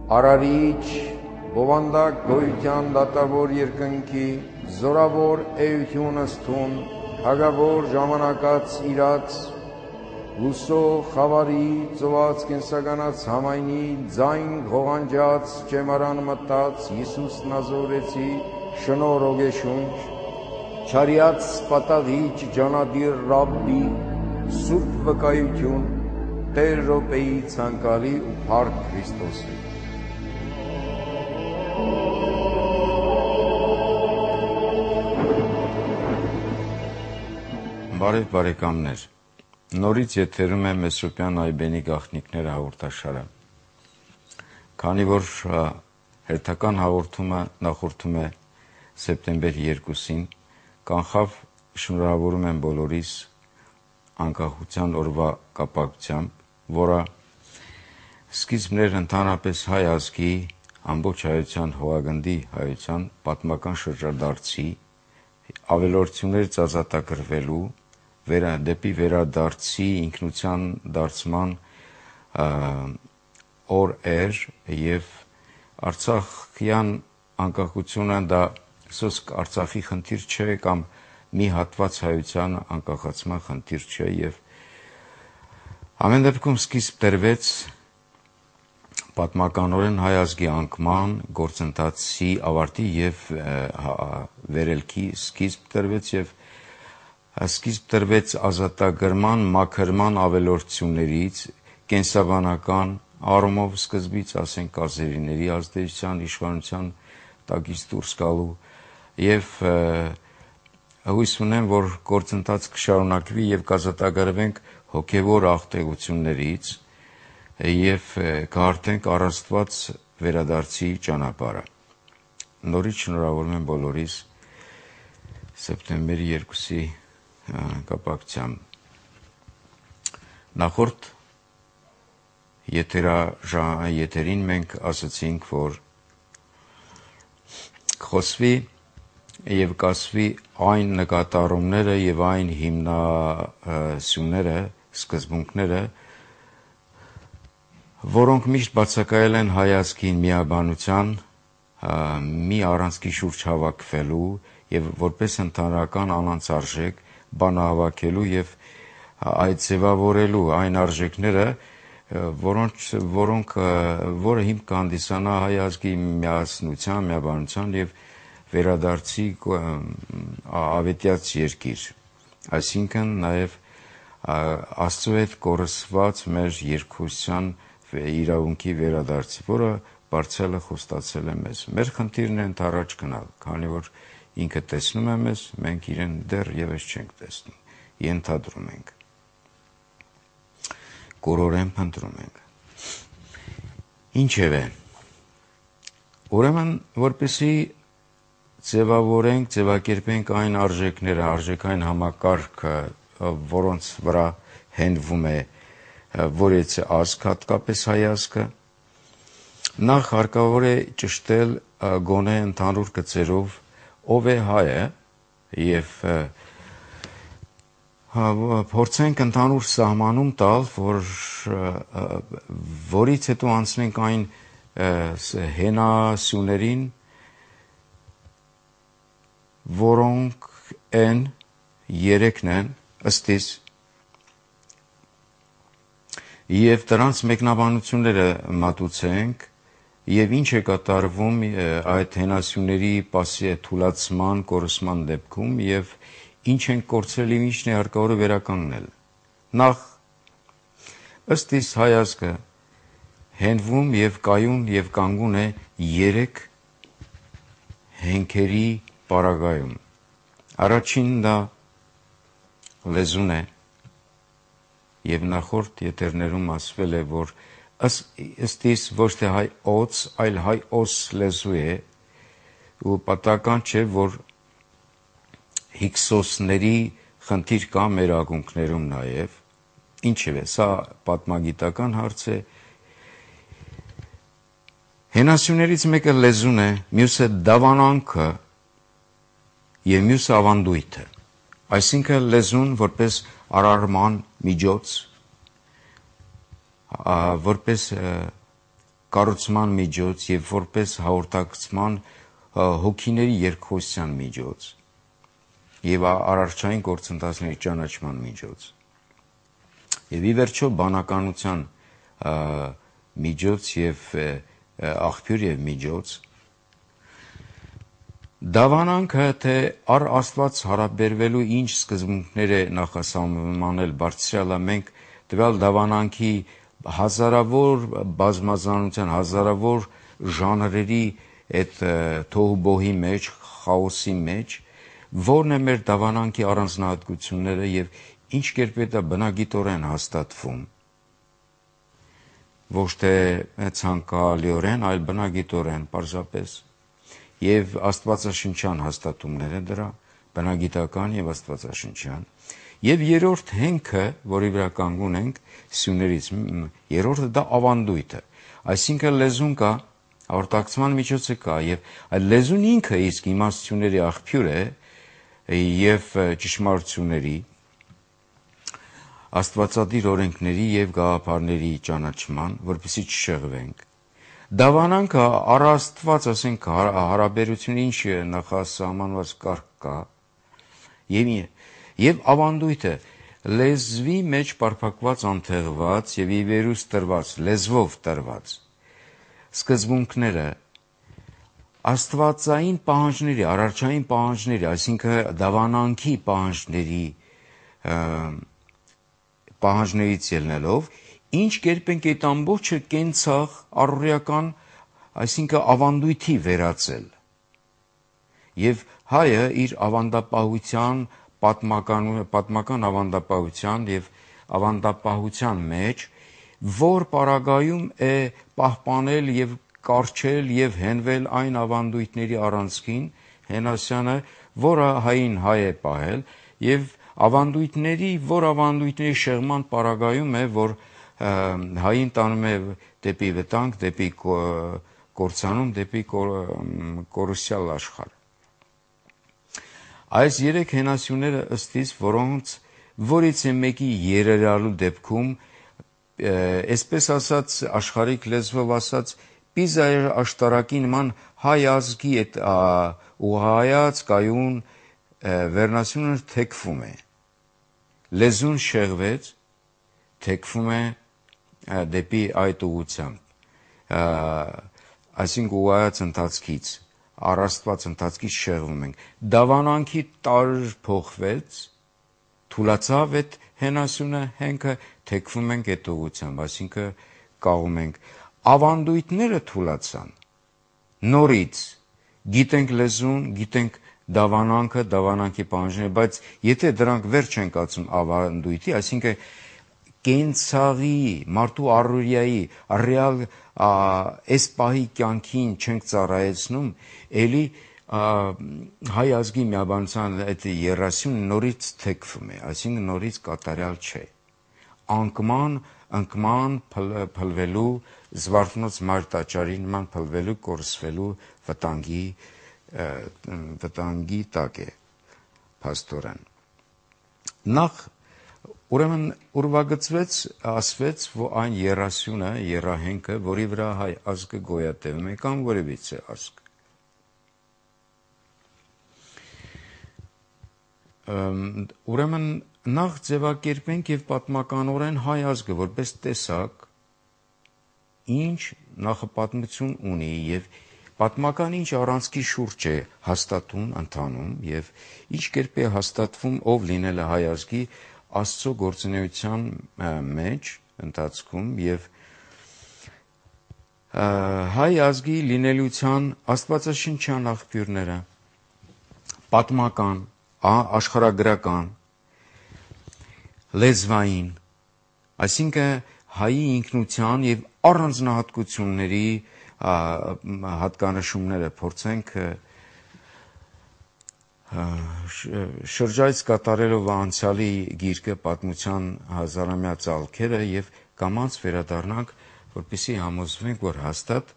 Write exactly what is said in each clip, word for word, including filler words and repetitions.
Արարիչ, բովանդակ գոյության դատավոր երկնքի, զորավոր էություն ըստուն, հագավոր ժամանակած իրաց, լուսող խավարի ծոված կենսականած համայնի ձայն ղողանջած ճեմարան մտած Հիսուս Նազորեցի շնոր ոգեշունչ, չարյաց պատաղիչ ջանադիր Ռաբբի սուրբ վկայություն Տեր րոպեի ցանկալի ու փառք Քրիստոսի։ Բարև բարեկամներ, նորից եթերում է Մեսրոպյան Այբենի գաղտնիքներ հաղորդաշարը։ Քանի որ հերթական հաղորդումը նախորդում է սեպտեմբեր երկուսին, կանխավ շնորհավորում եմ բոլորիս անկախության օրվա կապակցությամբ, որը սկիզբներ ընդհանրապես հայ ազգի, ամբողջ հայության հողագնդի հայության պատմական շրջադարձի, ավելորդություններ ծազատագրվելու, վերա դեպի վերադարձի ինքնության դարձման օր էր եւ Արցախյան անկախությունը դա սոսկ Արցախի խնդիր չէ կամ մի հատված հայության անկախացման խնդիր չէ եւ ամեն դեպքում սկիզբ տրվեց պատմականորեն հայ ազգի անկման գործընթացի ավարտի եւ վերելքի սկիզբ տրվեց եւ սկիզբ տրվեց ազատագրման մաքրման ավելորդություններից կենսաբանական առումով սկզբից ասենք ազերիների ազդեցության իշխանության տակից դուրս գալու եւ հույս ունեմ որ գործընթաց կշարունակվի եւ կազատագրվենք հոգեվոր աղտեղություններից եւ կհարթենք առաստված վերադարձի ճանապարհը։ Նորից շնորհավորում եմ բոլորիս սեպտեմբերի երկուսի կապակցությամբ։ Նախորդ եթերին մենք ասացինք, որ խոսվի եւ կասվի այն նկատառումները եւ այն հիմնասյուները, սկզբունքները, որոնք միշտ բացակայել են հայ ազգի միաբանության մի առանցքի շուրջ հավաքվելու եւ որպես ընդհանրական անանցարժեք բանահավաքելու եւ այդ ձևավորելու այն արժեքները, որոնք որոնք որը հիմք կհանդիսանա հայ ազգի միասնության, միաբանության եւ վերադարձի ավետյաց երկիր, այսինքն նաեւ Աստծո հետ կորսված մեր երկխոսության իրավունքի վերադարձի, որը բարձրացել է խոստացել է մեզ։ Մեր խնդիրն է ընդառաջ գնալ, քանի որ ինքը տեսնում է մեզ, մենք իրեն դեռ եւս չենք տեսնում, ենթադրում ենք, կորորեն փնտրում ենք։ Ինչևէ, ուրեմն որպեսի ձևավորենք, ձևակերպենք այն արժեքները, արժեքային համակարգը, որոնց վրա հենվում է որից ազգ, հատկապես հայ ազգը, նախ հարկավոր է ճշտել գոնե ընդհանուր գծերով ով է հայը եւ փորձենք ընդհանուր սահմանում տալ, որ որից հետո անցնենք այն հենասյուներին, որոնք են երեքն են ըստիս եւ դրանց մեկնաբանությունները մատուցենք եւ ինչ է կատարվում այդ հենասյուների պասի թուլացման, կորսման դեպքում եւ ինչ են կորցրել եւ ինչն է հարկավոր վերականգնել։ Նախ ըստ իս հայ ազգը հենվում եւ կայուն եւ կանգուն է երեք հենքերի պարագայում։ Առաջինն դա լեզուն է եւ նախորդ եթերներում ասվել է, որ ըստ իս ոչ թե հայ օց, այլ հայ օս լեզու է ու պատահական չէ, որ հիքսոսների խնդիր կա մեր ակունքներում նաև, ինչևէ, սա պատմագիտական հարց է։ Հենասյուներից մեկը լեզուն է, մյուսը դավանանքը եւ մյուսը ավանդույթը, այսինքն լեզուն որպես արարման միջոց, որպես կառուցման միջոց եւ որպես հաղորդակցման հոգիների երկխոսության միջոց եւ արարչային գործընթացների ճանաչման միջոց եւ ի վերջո բանականության միջոց եւ աղբյուր եւ միջոց դավանանքը թե առ Աստված հարաբերվելու ինչ սկզբունքներ է նախասահմանել բարձրալը մենք տվյալ դավանանքի հազարավոր բազմազանության հազարավոր ժանրերի այդ թոհուբոհի մեջ խաոսի մեջ որն է մեր դավանանքի առանձնահատկությունները եւ ինչ կերպ է դա բնագիտորեն հաստատվում ոչ թե ցանկալիորեն այլ բնագիտորեն պարզապես եւ աստվածաշնչյան հաստատումներ է դրա բնագիտական եւ աստվածաշնչյան եւ երրորդ հենքը որի վրա կանգուն ենք սյուներից երրորդը դա ավանդույթը այսինքն լեզուն կա հաղորդակցման միջոցը կա եւ այլ լեզուն ինքը իսկ իմաստությունների աղբյուր է եւ ճշմարտությունների աստվածադիր օրենքների եւ գաղափարների ճանաչման որպեսզի չշեղվենք դավանանքը առ Աստված ասենք հարաբերություն ինչ նախասահմանված կարգ կա եւ եւ ավանդույթը լեզվի մեջ պարփակված անթեղված եւ ի վերուս տրված լեզվով տրված սկզբունքները աստվածային պահանջների արարչային պահանջների այսինքն դավանանքի պահանջների պահանջներից ելնելով ինչ կերպ ենք այդ ամբողջը կենցաղ առօրեական այսինքն ավանդույթի վերածել եւ հայը իր ավանդապահության պատմական պատմական ավանդապահության եւ ավանդապահության մեջ որ պարագայում է պահպանել եւ կարճել եւ հենվել այն ավանդույթների առանցքին Հենասյանը որը հային հայ է պահել եւ ավանդույթների որ ավանդույթների շեղման պարագայում է որ հային տանում է դեպի վտանգ դեպի կորցանում դեպի կորուսյալ աշխարհ այս երեք հենասյուները ըստիս որոնց որից է մեկի երերալու դեպքում այսպես ասած աշխարհիկ լեզվով ասած պիզայի աշտարակի նման հայ ազգի այդ ուղղայած կայուն վերնասյունը թեքվում է լեզուն շեղվեց թեքվում է դեպի այդ ուղղությամբ այսինքն ուղղայած ընթացքից առաստված ընթացքից շեղվում ենք դավանանքի տարր փոխվեց թուլացավ այդ հենասյունը հենքը թեքվում ենք այդ ուղղությամբ այսինքն կաղում ենք ավանդույթները թուլացան նորից գիտենք լեզուն գիտենք դավանանքը դավանանքի պահանջները բայց եթե դրանք վեր չեն կացում ավանդույթի այսինքն կենցաղի մարդու առօրյայի ռեալ այս պահի կյանքին չենք ծառայեցնում էլի հայ ազգի միաբանության այդ երասյուն նորից թեքվում է այսինքն նորից կատարյալ չէ անկման անկման փլվելու զվարթնոց մար տաճարի նման փլվելու կորսվելու վտանգի վտանգի տակ է փաստորեն նախ ուրեմն ուրվագծվեց ասվեց որ այն երասյունը երահենքը որի վրա հայ ազգը գոյատևում է կամ որևիցե ազգ ուրեմն նախ ձևակերպենք եւ պատմականորեն հայ ազգը որպես տեսակ ինչ նախապատմություն ունի եւ պատմական ինչ առանցքի շուրջ է հաստատում ընթանում եւ ինչ կերպ է հաստատվում ով լինել է հայ ազգի Աստծո գործունեության մեջ ընթացքում եւ հայ ազգի լինելիության աստվածաշնչյան աղբյուրները պատմական աշխարհագրական լեզվային այսինքն հայի ինքնության եւ առանձնահատկությունների հատկանշումները փորձենք շրջայց կատարելով անցյալի գիրկը պատմության հազարամյա ծալքերը եւ կամած վերադառնանք որպեսզի համոզվենք որ հաստատ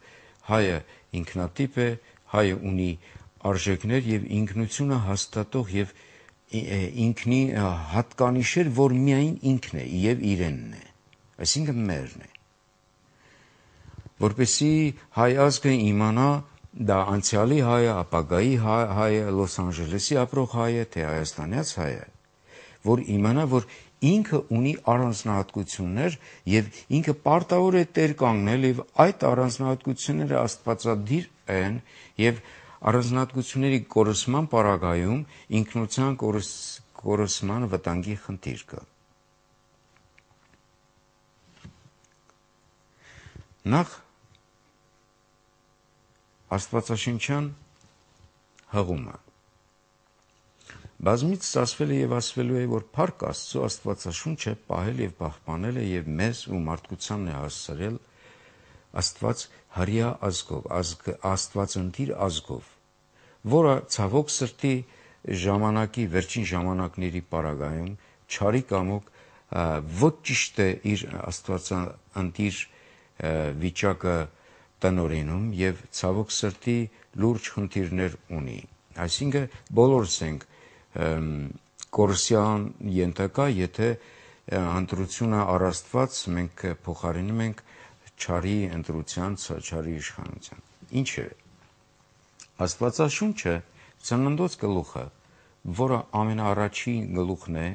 հայը ինքնատիպ է հայը ունի արժեքներ եւ ինքնությունը հաստատող եւ ինքնի հատկանիշեր որ միայն ինքն է եւ իրենն է այսինքն մերն է որպեսզի հայ ազգը իմանա դա անցյալի հայը, ապագայի հայը, Լոս Անջելեսի ապրող հայը, թե հայաստանյաց հայը, որ իմանա, որ ինքը ունի առանձնահատկություններ եւ ինքը պարտավոր է տեր կանգնել եւ այդ առանձնահատկությունները աստվածադիր են եւ առանձնահատկությունների կորսման պարագայում ինքնության կորսման վտանգի խնդիր կա։ Նախ աստվածաշնչյան հղումը բազմից ասվել է եւ ասվելու է, որ Փառք Աստծո Աստվածաշունչը պահել եւ պահպանել է եւ մեզ ու մարդկությանն է հասցրել Աստված հրյա ազգով, ազգ, Աստվածընտիր ազգով, որը ցավոք սրտի ժամանակի վերջին ժամանակների պարագայում չարի կամոք ոչ ճիշտ է իր Աստվածընտիր վիճակը տնօրինում եւ ցավոք սրտի լուրջ խնդիրներ ունի։ Այսինքն բոլորս ենք կորսյան ենթակա, եթե ընտրությունը առաստված մենք փոխարինում ենք չարի ընտրության, չարի իշխանության։ Ինչ է։ Աստվածաշունչը ծննդոց գլուխը, որը ամենաառաջին գլուխն է,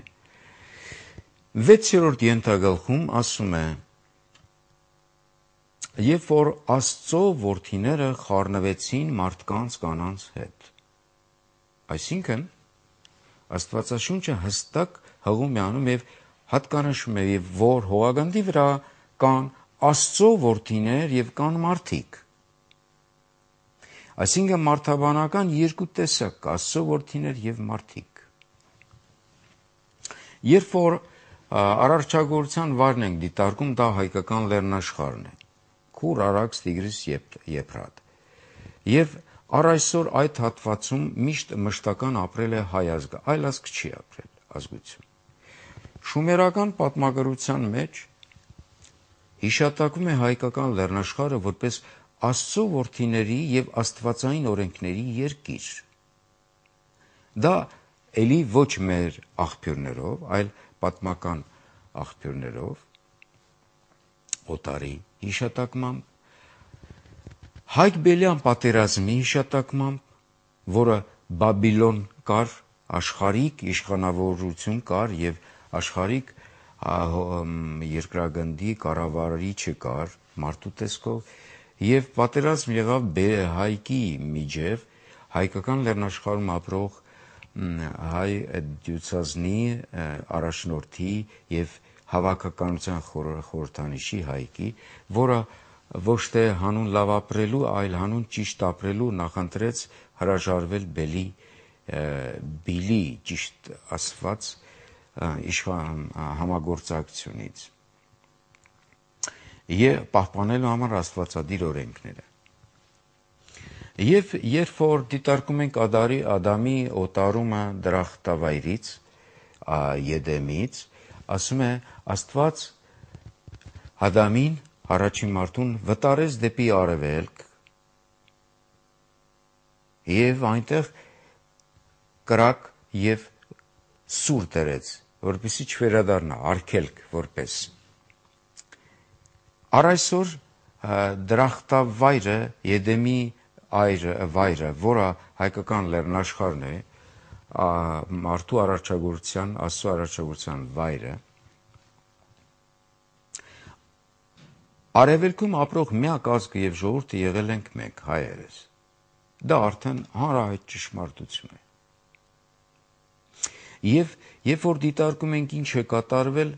վեցերորդ ենթագլխում ասում է. Երբ որ Աստծո որդիները խառնվեցին մարդկանց կանանց հետ։ Այսինքն Աստվածաշունչը հստակ հղում է անում եւ հատկանշում է, եւ որ հողագնդի վրա կան Աստծո որդիներ եւ կան մարդիկ։ Այսինքն մարդաբանական երկու տեսակ կա՝ Աստծո որդիներ եւ մարդիկ։ Երբ որ արարչագործության վարն ենք դիտարկում, դա հայկական լեռնաշխարհն է։ Քուր, Արաքս, Տիգրիս, Եփրատ։ Եվ առ այսօր այդ հատվածում միշտ մշտական ապրել է հայ ազգը, այլ ազգ չի ապրել ազգություն։ Շումերական պատմագրության մեջ հիշատակվում է հայկական լեռնաշխարհը որպես Աստծո որդիների եւ աստվածային օրենքների երկիր։ Դա էլի ոչ մեր աղբյուրներով, այլ պատմական աղբյուրներով, Օտարի հիշատակմամբ, Հայք-Բելյան պատերազմի հիշատակմամբ, որը Բաբիլոն կար, աշխարհիկ իշխանավորություն կար եւ աշխարհիկ երկրագնդի կառավարիչը կար մարդու տեսքով եւ պատերազմ եղավ հայկի միջև հայկական լեռնաշխարհում ապրող հայ դյուցազնի առաջնորդի եւ հավաքականության խորհրդանիշի հայկի, որը ոչ թե հանուն լավ ապրելու, այլ հանուն ճիշտ ապրելու նախընտրեց հրաժարվել բելի բիլի ճիշտ ասված իշխան համագործակցությունից եւ պահպանելու համար աստվածադիր օրենքները։ Եվ երբ որ դիտարկում ենք Ադարի Ադամի օտարումը դրախտավայրից, Եդեմից, ասում է Աստված Ադամին, առաջին մարդուն վտարեց դեպի արևելք եւ այնտեղ կրակ եւ սուր դրեց, որպեսզի չվերադառնա, արգելք որպես։ Առ այսօր դրախտավայրը, Եդեմի վայրը, որը հայկական լեռնաշխարհն է, մարդու արարչագործության, Աստծո արարչագործության վայրը, արևելքում ապրող միակ ազգը եւ ժողովուրդը եղել ենք մենք, հայերս։ Դա արդեն հանրահայտ ճշմարտություն է։ Եվ երբ որ դիտարկում ենք ինչ է կատարվել,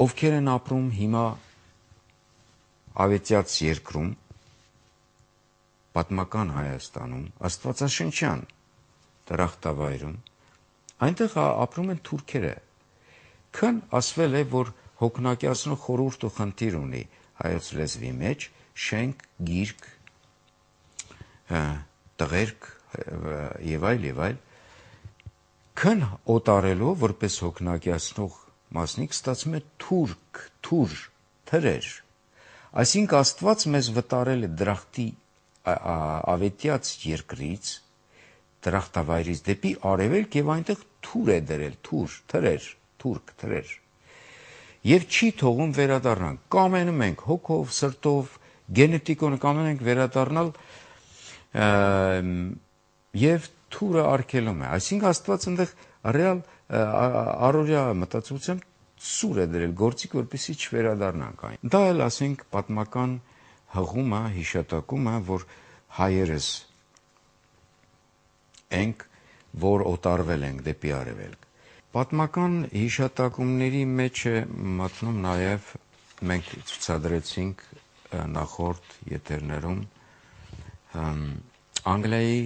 ովքեր են ապրում հիմա ավետյաց երկրում, պատմական Հայաստանում, աստվածաշնչյան դրախտավայրում, այնտեղ ապրում են թուրքերը։ Քան ասվել է, որ հոգնակյացնող խորհուրդը խնդիր ունի հայոց լեզվի մեջ, շենք, գիրք, տղերք եւ այլ եւ այլ, քան օտարելով որպես հոգնակյացնող մասնիկ ստացվում է թուրք, թուր, թրեր։ Այսինքն Աստված մեզ վտարել է դրախտի ավետյաց երկրից, դրախտավայրից դեպի արևելք եւ այնտեղ թուր է դրել, թուր, թրեր, թուրք, թրեր։ եւ չի թողում վերադառնալ։ Կամենում ենք հոգով, սրտով, գենետիկոն կամենում ենք վերադառնալ եւ թուրը արգելում է։ Այսինքն Աստված այնտեղ ռեալ առօրյա մտածողությամբ սուր է դրել գործիք, որպեսզի չվերադառնանք այն։ Դա էլ ասենք պատմական հղումը, հիշատակումը, որ հայերս ենք, որ օտարվել ենք դեպի արևելք։ Պատմական հիշատակումների մեջ է մտնում նաև մենք ցուցադրեցինք նախորդ եթերներում Անգլիայի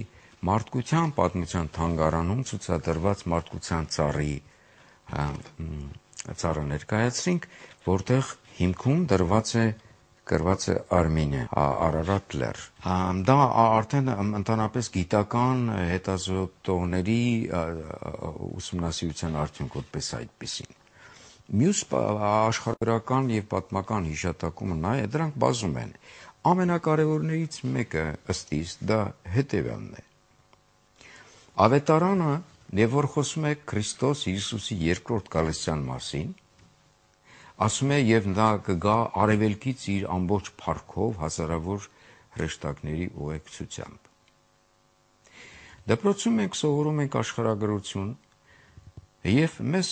մարդկության պատմության թանգարանում ցուցադրված մարդկության ծառի ծառը ներկայացրինք, որտեղ հիմքում դրված է գրված է Արմինե, Արարատ լեռ։ Դա արդեն ընդհանրապես գիտական հետազոտողների ուսումնասիրության արդյունք որպես այդպեսին։ Մյուս աշխարհագրական եւ պատմական հիշատակումը նա է, դրանք բազում են։ Ամենակարևորներից մեկը ըստ իս դա հետևյալն է։ Ավետարանը, եւ որ խոսում է Քրիստոս Հիսուսի երկրորդ գալստյան մասին, ասում է եւ նա կգա արևելքից իր ամբողջ փառքով հազարավոր հրեշտակների ուղեկցությամբ։ Դպրոցում մենք սովորում ենք աշխարհագրություն եւ մեզ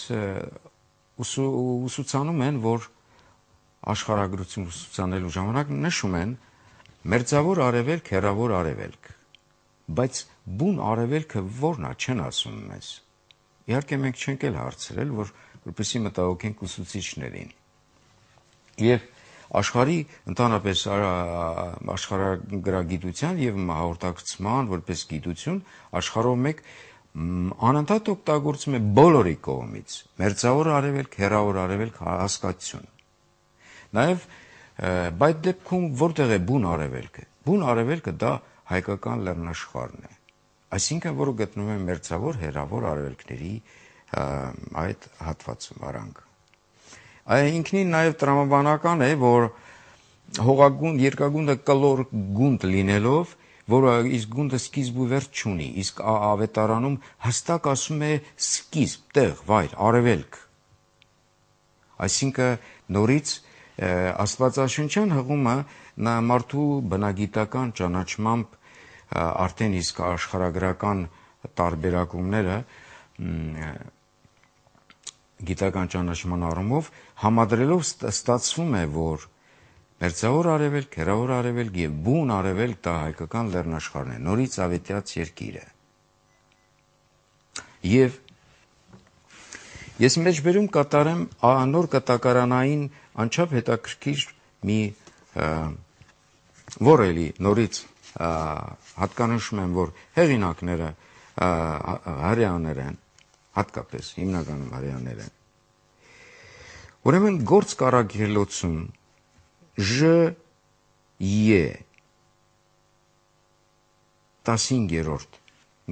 ուսուցանում են, որ աշխարհագրություն ուսուցանելու ժամանակ նշում են մերձավոր արևելք, հեռավոր արևելք, բայց բուն արևելքը ո՞րն է, չեն ասում մեզ։ Իհարկե մենք չենք էլ հարցրել, որ որպեսզի մտահոգենք ուսուցիչներին։ Եվ աշխարհի ընդհանրապես աշխարհագրագիտության եւ հաղորդակցման որպես գիտություն աշխարհով մեկ անընդհատ օգտագործում է բոլորի կողմից մերձավոր արևելք, հեռավոր արևելք հասկացություն։ Նաեւ բայց դեպքում որտեղ է բուն արևելքը։ Բուն արևելքը դա հայկական լեռնաշխարհն է։ Այսինքն, որը գտնվում է մերձավոր, հեռավոր արևելքների այդ հատվածում արանք։ Այն ինքնին նաև տրամաբանական է, որ հողագունդ երկագունդը կլոր գունդ լինելով, որը իսկ գունդը սկիզբ ու վերջ չունի, իսկ ավետարանում հստակ ասում է սկիզբ, տեղ, վայր, արևելք։ Այսինքն նորից աստվածաշնչյան հղումը նա մարդու բնագիտական ճանաչմամբ արդեն իսկ աշխարհագրական տարբերակումները գիտական ճանաչման առումով համադրելով ստացվում է, որ մերձավոր արևելք, հեռավոր արևելք եւ բուն արևելք դա հայկական լեռնաշխարհն է, նորից ավետյաց երկիրը։ Եվ ես մեջբերում կատարեմ նոր կտակարանային անչափ հետաքրքիր մի որ էլի նորից հատկանշում եմ, որ հեղինակները հрьяաներ են, հատկապես հիմնականում հрьяաներ են։ Ուրեմն գործ կարագելոցում Ž Ե տասնհինգերորդ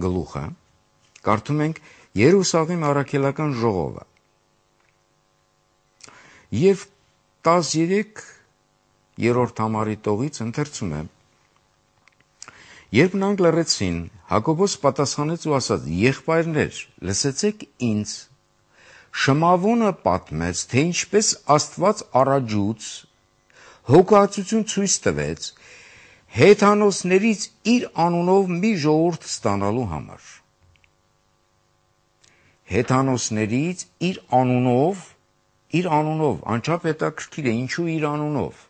գլուխը կարդում ենք Երուսաղեմ առաքելական ժողովը եւ տասներորդ համարի տողից ընթերցում է Երբ նրանք լռեցին, Հակոբոս պատասխանեց ու ասաց. Եղբայրներ, լսեցեք ինձ, Շմավոնը պատմեց, թե ինչպես Աստված առաջուց հոգացություն ցույց տվեց հեթանոսներից իր անունով մի ժողովուրդ ստանալու համար։ Հեթանոսներից իր անունով, իր անունով, անչափ հետաքրքիր է, ինչու իր անունով։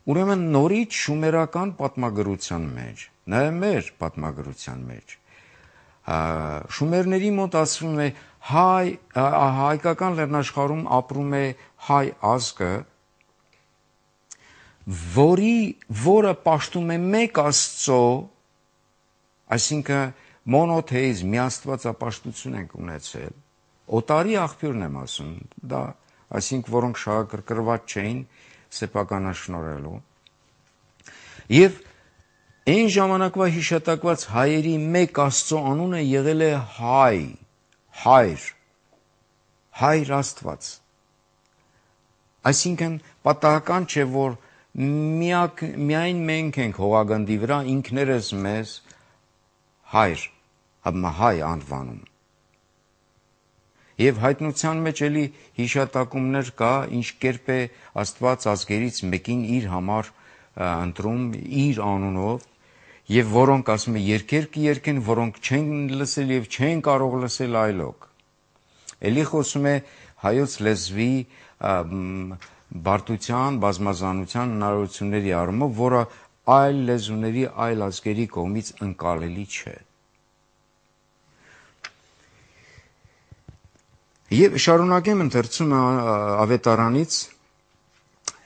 Ուրեմն նորից շումերական պատմագրության մեջ, նաև մեր պատմագրության մեջ, շումերների մոտ ասվում է հայ, հայկական լեռնաշխարհում ապրում է հայ ազգը, որի, որը պաշտում է մեկ Աստծո, այսինքն մոնոթեիզմ, միաստվածապաշտություն ենք ունեցել, օտարի աղբյուրն եմ ասում, դա, այսինքն որոնք շահագրգռված չէին սեփականաշնորհելու, եւ այն ժամանակվա հիշատակված հայերի մեկ Աստծո անունը եղել է հայ, հայր, հայր Աստված։ Այսինքն պատահական չէ, որ միակ, միայն մենք ենք հողագնդի վրա ինքներս մեզ հայր, հայ անվանում։ Եվ հայտնության մեջ էլի հիշատակումներ կա, ինչ կերպ է Աստված ազգերից մեկին իր համար ընտրում, իր անունով, եւ որոնք ասում է երկեր կերկեն, որոնք չեն լսել եւ չեն կարող լսել այլոք։ Էլի խոսում է հայոց լեզվի բարդության, բազմազանության հնարավորությունների առումով, որը այլ լեզուների, այլ ազգերի կողմից ընկալելի չէ։ Եվ շարունակեմ ընթերցում ավետարանից,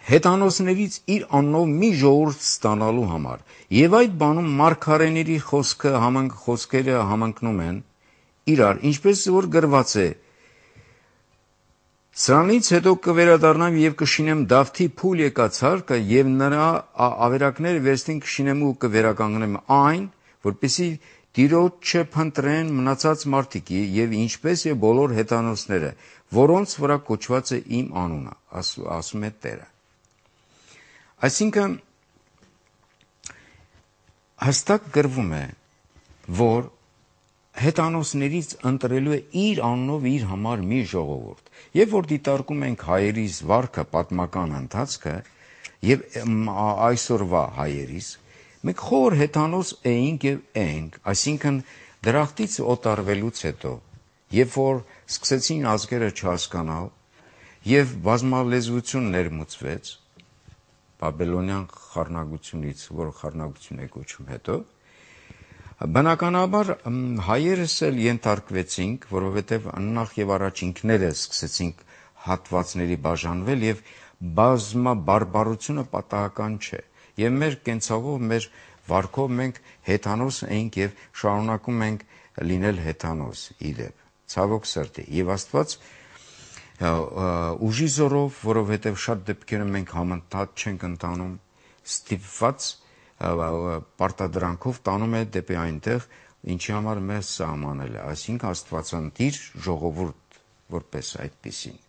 հետանոսներից իր անունով մի ժողովուրդ ստանալու համար, եւ այդ բանում մարգարեների խոսքը համանք, խոսքերը համընկնում են իրար, ինչպես որ գրված է. Սրանից հետո կվերադառնամ եւ կշինեմ Դավթի փուլ եկած հարկը եւ նրա ավերակները վերստին կշինեմ ու կվերականգնեմ այն, որպեսզի Տիրոջը փնտրեն մնացած մարդիկի եւ ինչպես եւ բոլոր հետանոսները, որոնց վրա կոչված է իմ անունը, ասում է Տերը։ Այսինքն հստակ գրվում է, որ հետանոսներից ընտրելու է իր անունով իր համար մի ժողովուրդ։ Եվ որ դիտարկում ենք հայերիս վարքը, պատմական ընթացքը եւ այսօրվա հայերիս, մենք խոր հետանոս էինք եւ ենք, այսինքն դրախտից օտարվելուց հետո, երբ որ սկսեցին ազգերը չհասկանալ եւ բազմալեզվություն ներմուծվեց Բաբելոնյան խառնագությունից, որ խառնագություն է կոչում հետո, բնականաբար հայերս էլ ենթարկվեցինք, որովհետև նախ եւ առաջ ինքներս սկսեցինք հատվածների բաժանվել եւ բազմաբարբարությունը պատահական չէ։ Եվ մեր կենցաղով, մեր վարքով մենք հեթանոս էինք եւ շարունակում ենք լինել հեթանոս իդեպ, ցավոք սրտի։ Եվ Աստված ուժի զորով, որովհետև շատ դեպքերում մենք համընթաց չենք ընթանում, ստիպված պարտադրանքով տանում է դեպի այնտեղ, ինչի համար մեզ սահմանել է, այսինքն Աստվածանտիր ժողովուրդ որպես այդպիսին։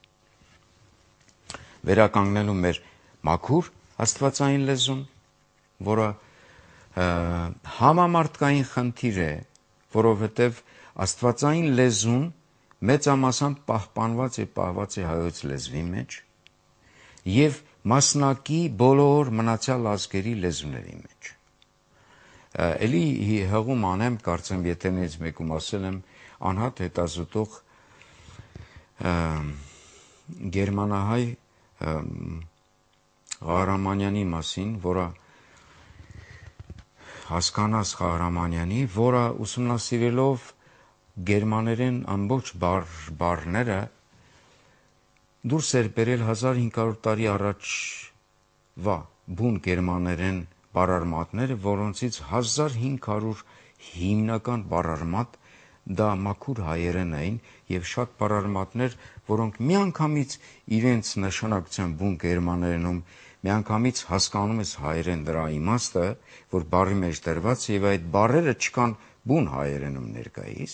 Վերականգնելու մեր մաքուր աստվածային լեզուն, որը համամարտկային խնդիր է, որովհետև աստվածային լեզուն մեծամասամբ պահպանված է պահված է հայոց լեզվի մեջ եւ մասնակի բոլոր մնացյալ ազգերի լեզուների մեջ։ Էլի հղում անեմ, կարծեմ եթերներից մեկում ասել եմ, անհատ հետազոտող գերմանահայ Ղահրամանյանի մասին, որը հասկանաս Ղահրամանյանի, որը ուսումնասիրելով գերմաներեն ամբողջ բառները դուրս էր բերել հազար հինգ հարյուր տարի առաջվա բուն գերմաներեն բառարմատները, որոնցից հազար հինգ հարյուր հիմնական բառարմատ դա մաքուր հայերեն էին եւ շատ բառարմատներ, որոնք միանգամից իրենց նշանակության բուն գերմաներենում միանգամից հասկանում ես հայերեն դրա իմաստը, որ բառի մեջ դրված եւ այդ բառերը չկան բուն հայերենում ներկայիս,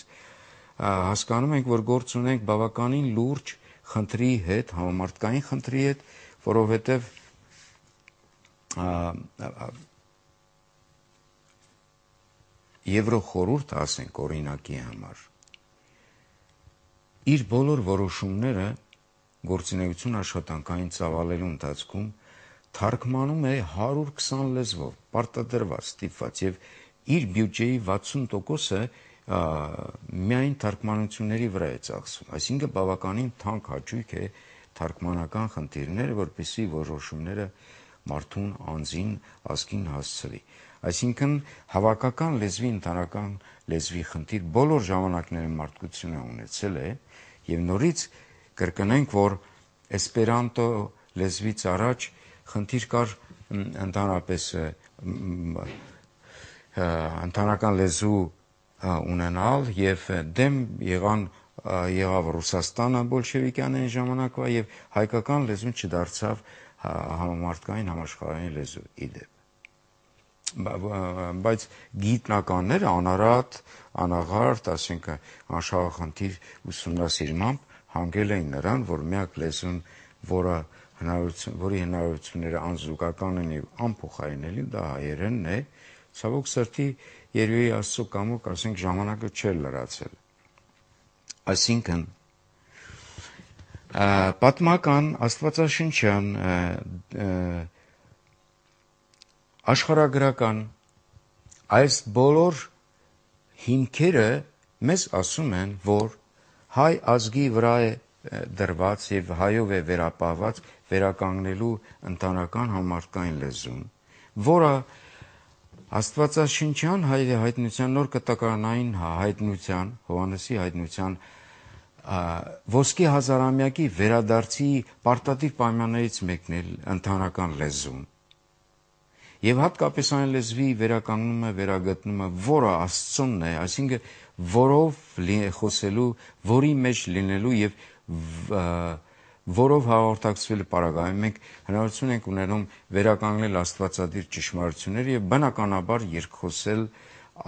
հասկանում ենք, որ գործ ունենք բավականին լուրջ խնդրի հետ, համամարտկային խնդրի հետ, որովհետև Եվրոխորհուրդը, ասենք օրինակի համար, իր բոլոր որոշումները գործունեություն աշխատանքային ծավալելու ընթացքում թարգմանում է հարյուր քսան լեզվով, պարտադրված, ստիպված եւ իր բյուջեի վաթսուն տոկոսը միայն թարգմանությունների վրա է ծախսում, այսինքն բավականին թանկ հաճույք է թարգմանական խնդիրները, որպեսզի որոշումները մարդուն անձին ազգին հասցրի։ Այսինքն հավաքական լեզվի, ընդհանրական լեզվի խնդիր բոլոր ժամանակներում մարդկությունը ունեցել է եւ նորից կրկնենք, որ էսպերանտո լեզվից առաջ խնդիր կար ընդհանրապես ընդհանրական լեզու ունենալ եւ դեմ եղան եղավ Ռուսաստանը բոլշևիկյանների ժամանակվա եւ հայկական լեզուն չդարձավ համամարտկային համաշխարհային լեզու իդեպ։ Բայց գիտնականները անարատ, անաղարտ, ասենք անշահախնդիր ուսումնասիրմամբ հանգել էին նրան, որ միակ լեզուն, որը հնարավորություն, որի հնարավորությունները անզուգական են եւ անփոխարինելի, դա հայերենն է, ցավոք սրտի երևի Աստծո կամոք, ասենք ժամանակը չէր լրացել։ Այսինքն Պատմական, աստվածաշնչյան, աշխարհագրական այս բոլոր հիմքերը մեզ ասում են, որ հայ ազգի վրա է դրված եւ հայով է վերապահված վերականգնելու ընտանեկան համարտկային լեզուն, որը աստվածաշնչյան հայտնության, նոր կտակարանային հայտնության, Հովհաննեսի հայտնության ոսկի հազարամյակի վերադարձի պարտադիր պայմաններից մեկն է ընտանեկան լեզուն։ Եվ հատկապես այն լեզվի վերականգնումը, վերագտնումը, որը Աստծունն է, այսինքն որով խոսելու, որի մեջ լինելու եւ որով հաղորդակցվելու պարագայում մենք հնարավորություն ենք ունենում վերականգնել աստվածադիր ճշմարտությունները եւ բնականաբար երկխոսել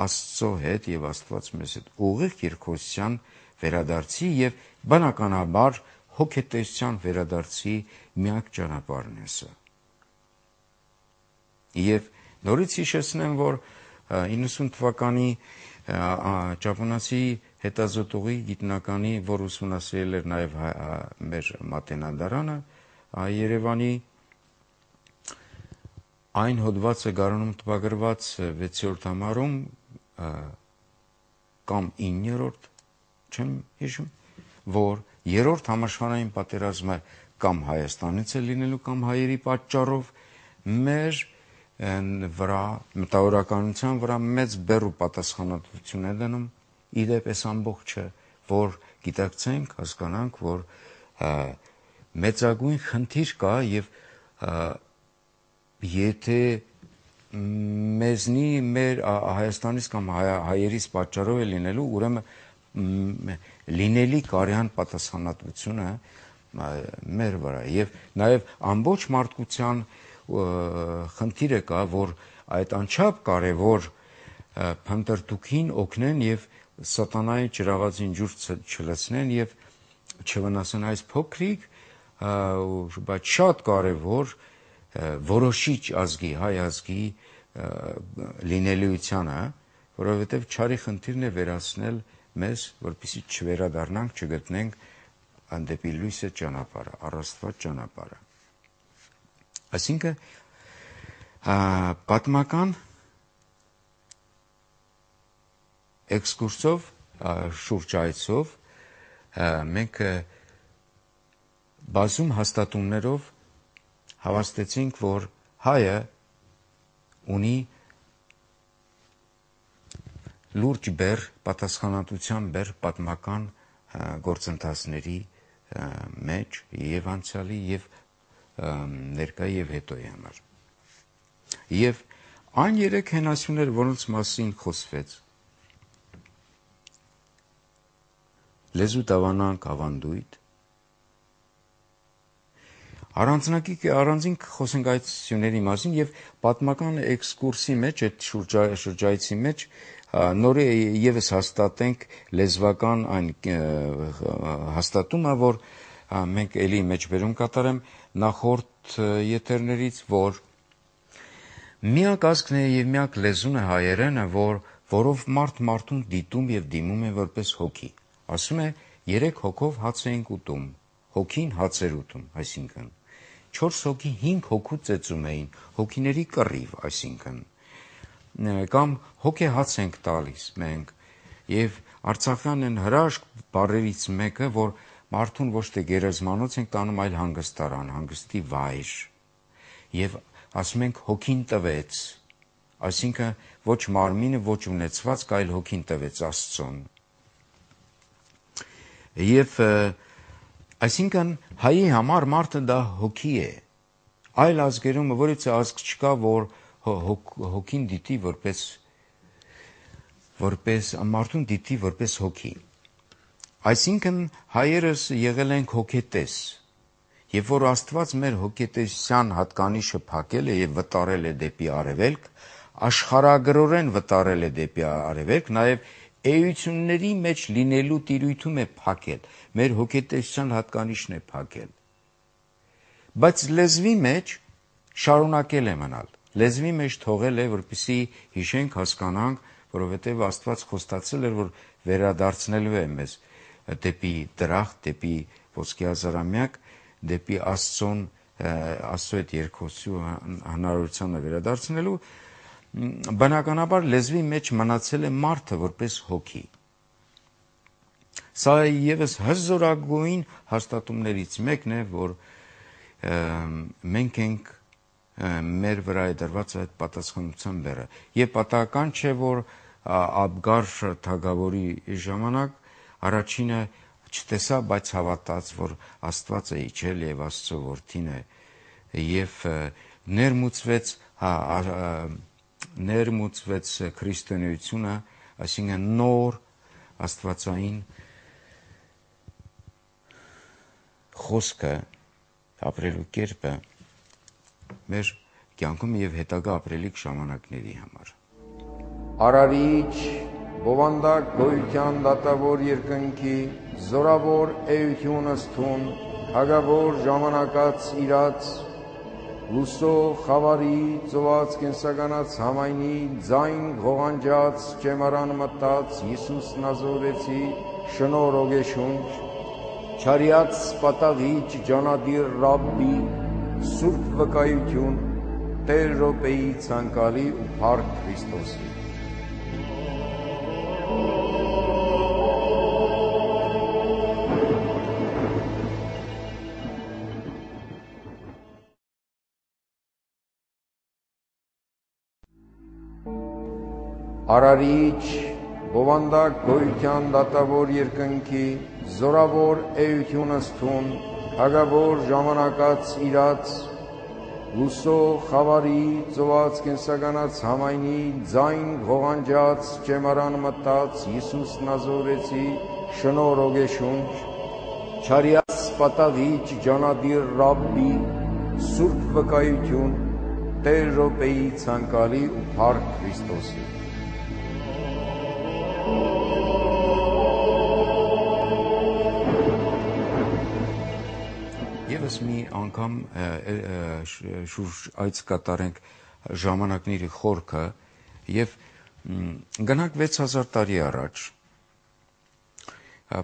Աստծո հետ եւ Աստված մեզ հետ ուղիղ երկխոսության վերադարձի եւ բնականաբար հոգետեսության վերադարձի միակ ճանապարհն է սա։ Եվ նորից հիշեցնեմ, որ իննսուն թվականի ճապոնացի հետազոտողի գիտնականի, որ ուսումնասիրել էր նաև մեր մատենադարանը, Երևանի այն հոդվածը գարանում տպագրված վեցերորդ համարում կամ իններորդ, չեմ հիշում, որ երրորդ համաշխարհային պատերազմը կամ Հայաստանից է լինելու կամ հայերի պատճառով մեր վրա մտավորականության վրա մեծ բեռ ու պատասխանատվություն է դնում իդեպ այս ամբողջը, որ գիտակցենք, հասկանանք, որ մեծագույն խնդիր կա եւ եթե մեզնի մեր Հայաստանից կամ հայերից պատճառով է լինելու, ուրեմն լինելի կարյան պատասխանատվությունը մեր վրա եւ նաեւ ամբողջ մարդկության խնդիրը կա, որ այդ անչափ կարևոր փնտրտուքին օգնեն եւ սատանայի ճրաղածին ջուր չլցնեն եւ չվնասեն այս փոքրիկ, բայց շատ կարևոր որոշիչ ազգի, հայ ազգի լինելիությանը, որովհետեւ չարի խնդիրն է վերացնել մեզ, որպեսզի չվերադառնանք, չգտնենք անդեպի լույսը ճանապարհը, առաստված ճանապարհը։ Այսինքն պատմական էքսկուրսով, շուրջայցով մենք բազում հաստատումներով հավաստեցինք, որ հայը ունի լուրջ բեռ, պատասխանատվության բեռ պատմական գործընթացների մեջ եւ անցյալի եւ ներկայի եւ հետոյի համար։ Եվ այն երեք հենասյուներ, որոնց մասին խոսվեց, լեզու տավանանք ավանդույթ, առանձնակի առանձին խոսենք այդ սյուների մասին եւ պատմական էքսկուրսի մեջ, այդ շրջայցի մեջ նորի եւս հաստատենք լեզվական այն հաստատումը, որ մենք էլի մեջբերում կատարեմ նախորդ եթերներից, որ միակ ազգն է եւ միակ լեզուն է հայերենը, որ որով մարդ մարդուն դիտում եւ դիմում է որպես հոգի։ Ասում է երեք հոգով հաց էինք ուտում, հոգին հաց էր ուտում, այսինքն չորս հոգի հինգ հոգու ծեծում էին, հոգիների կռիվ, այսինքն կամ հոգե հաց ենք տալիս մենք եւ արցախյան են հրաշք բառերից մեկը, որ մարդուն ոչ թե գերեզմանոց ենք տանում, այլ հանգստարան, հանգստի վայր եւ ասում ենք հոգին տվեց, այսինքն ոչ մարմինը, ոչ ունեցվածք, այլ հոգին տվեց Աստծուն։ Եվ այսինքն հայի համար մարդը դա հոգի է, այլ ազգերում որից ազգ չկա, որ հոգին դիտի որպես որպես մարդուն դիտի որպես հոգի։ Այսինքն հայերս եղել ենք հոգետես, եւ որ Աստված մեր հոգետեսության հատկանիշը փակել է եւ վտարել է դեպի արևելք, աշխարհագրորեն վտարել է դեպի արևելք, նաեւ էությունների մեջ լինելու տիրույթում է փակել, մեր հոգետեսության հատկանիշն է փակել։ Բայց լեզվի մեջ շարունակել է մնալ, լեզվի մեջ թողել է, որպեսզի հիշենք, հասկանանք, որովհետեւ Աստված խոստացել էր, որ վերադարձնելու է մեզ դեպի դրախտ, դեպի ոսկի հազարամյակ դեպի Աստծուն, Աստծո հետ երկխոսելու հնարավորությանը վերադարձնելու, բնականաբար լեզվի մեջ մնացել է մարդը որպես հոգի։ Սա ևս հզորագույն հաստատումներից մեկն է, որ մենք ենք մեր վրա է դրված այդ պատասխանության բեռը։ Եվ պատահական չէ, որ Աբգար թագավորի ժամանակ առաջինը չտեսա, բայց հավատաց, որ Աստված է իջել եւ Աստծո որդին է, եւ ներմուծվեց, ներմուծվեց քրիստոնեությունը, այսինքն նոր աստվածային խոսքը, ապրելու կերպը մեր կյանքում եւ հետագա ապրելիք ժամանակների համար։ Արարիչ, բովանդակ գոյության դատավոր երկնքի, զորավոր էություն ըստուն, հագավոր ժամանակած իրաց, լուսո խավարի, ծոված կենսականած համայնի, ձայն ղողանջած, ճեմարան մտած, Հիսուս Նազորեցի, շնոր ոգեշունչ, չարյաց պատաղիչ ջանադիր Ռաբբի, սուրբ վկայություն, Տեր Ռոպեի ցանկալի ու փառք Քրիստոսի։ Արարիչ, բովանդակ գոյության դատավոր երկնքի, զորավոր էություն ըստուն, հագավոր ժամանակած իրաց, լուսո խավարի, ծոված կենսականած համայնի, ձայն ղողանջած, ճեմարան մտած, Հիսուս Նազորեցի, շնոր ոգեշունչ, չարյաց պատաղիչ ջանադիր Ռաբբի, սուրբ վկայություն, Տեր Ռոպեի ցանկալի ու փառք Քրիստոսի։ Եվս մի անգամ շուրջ այց կատարենք ժամանակների խորքը եւ գնանք վեց հազար տարի առաջ,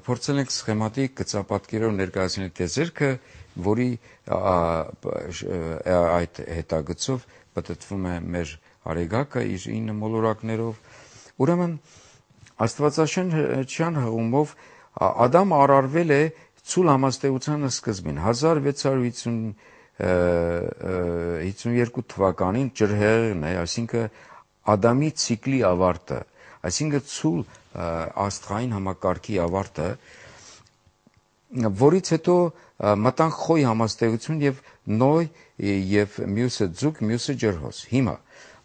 փորձել ենք սխեմատիկ գծապատկերով ներկայացնել տեզերքը, որի այդ հետագծով պտտվում է մեր արեգակը իր ինը մոլորակներով։ Ուրեմն Աստվածաշնչյան հղումով Ադամ արարվել է ցուլ համաստեղության սկզբին հազար վեց հարյուր հիսունյոթ թվականին ջրհեղեղն է, այսինքն Ադամի ցիկլի ավարտը, այսինքն ցուլ աստղային համակարգի ավարտը, որից հետո մտանք խոյ համաստեղություն եւ նոյ եւ մյուսը ձուկ, մյուսը ջրհոս։ Հիմա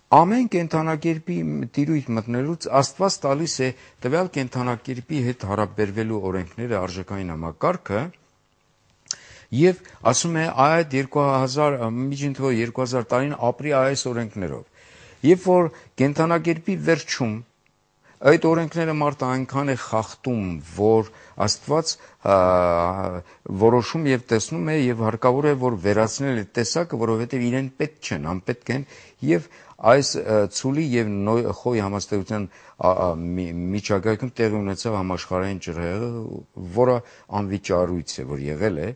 ամեն կենդանակերպի տիրույթ մտնելուց Աստված տալիս է տվյալ կենդանակերպի հետ հարաբերվելու օրենքները, արժեքային համակարգը, եւ ասում է այդ երկու հազար միջին թվով երկու հազար տարին ապրի այս օրենքներով։ Երբ որ կենդանակերպի վերջում այդ օրենքները մարդը այնքան է խախտում, որ Աստված որոշում եւ տեսնում է եւ հարկավոր է, որ վերացնել այդ տեսակը, որովհետեւ իրեն պետք չեն, անպետք են, եւ այս ցուլի եւ խոյ համաստեղության միջակայքում տեղի ունեցավ համաշխարհային ջրհեղեղը, որը անվիճառույց է, որ եղել է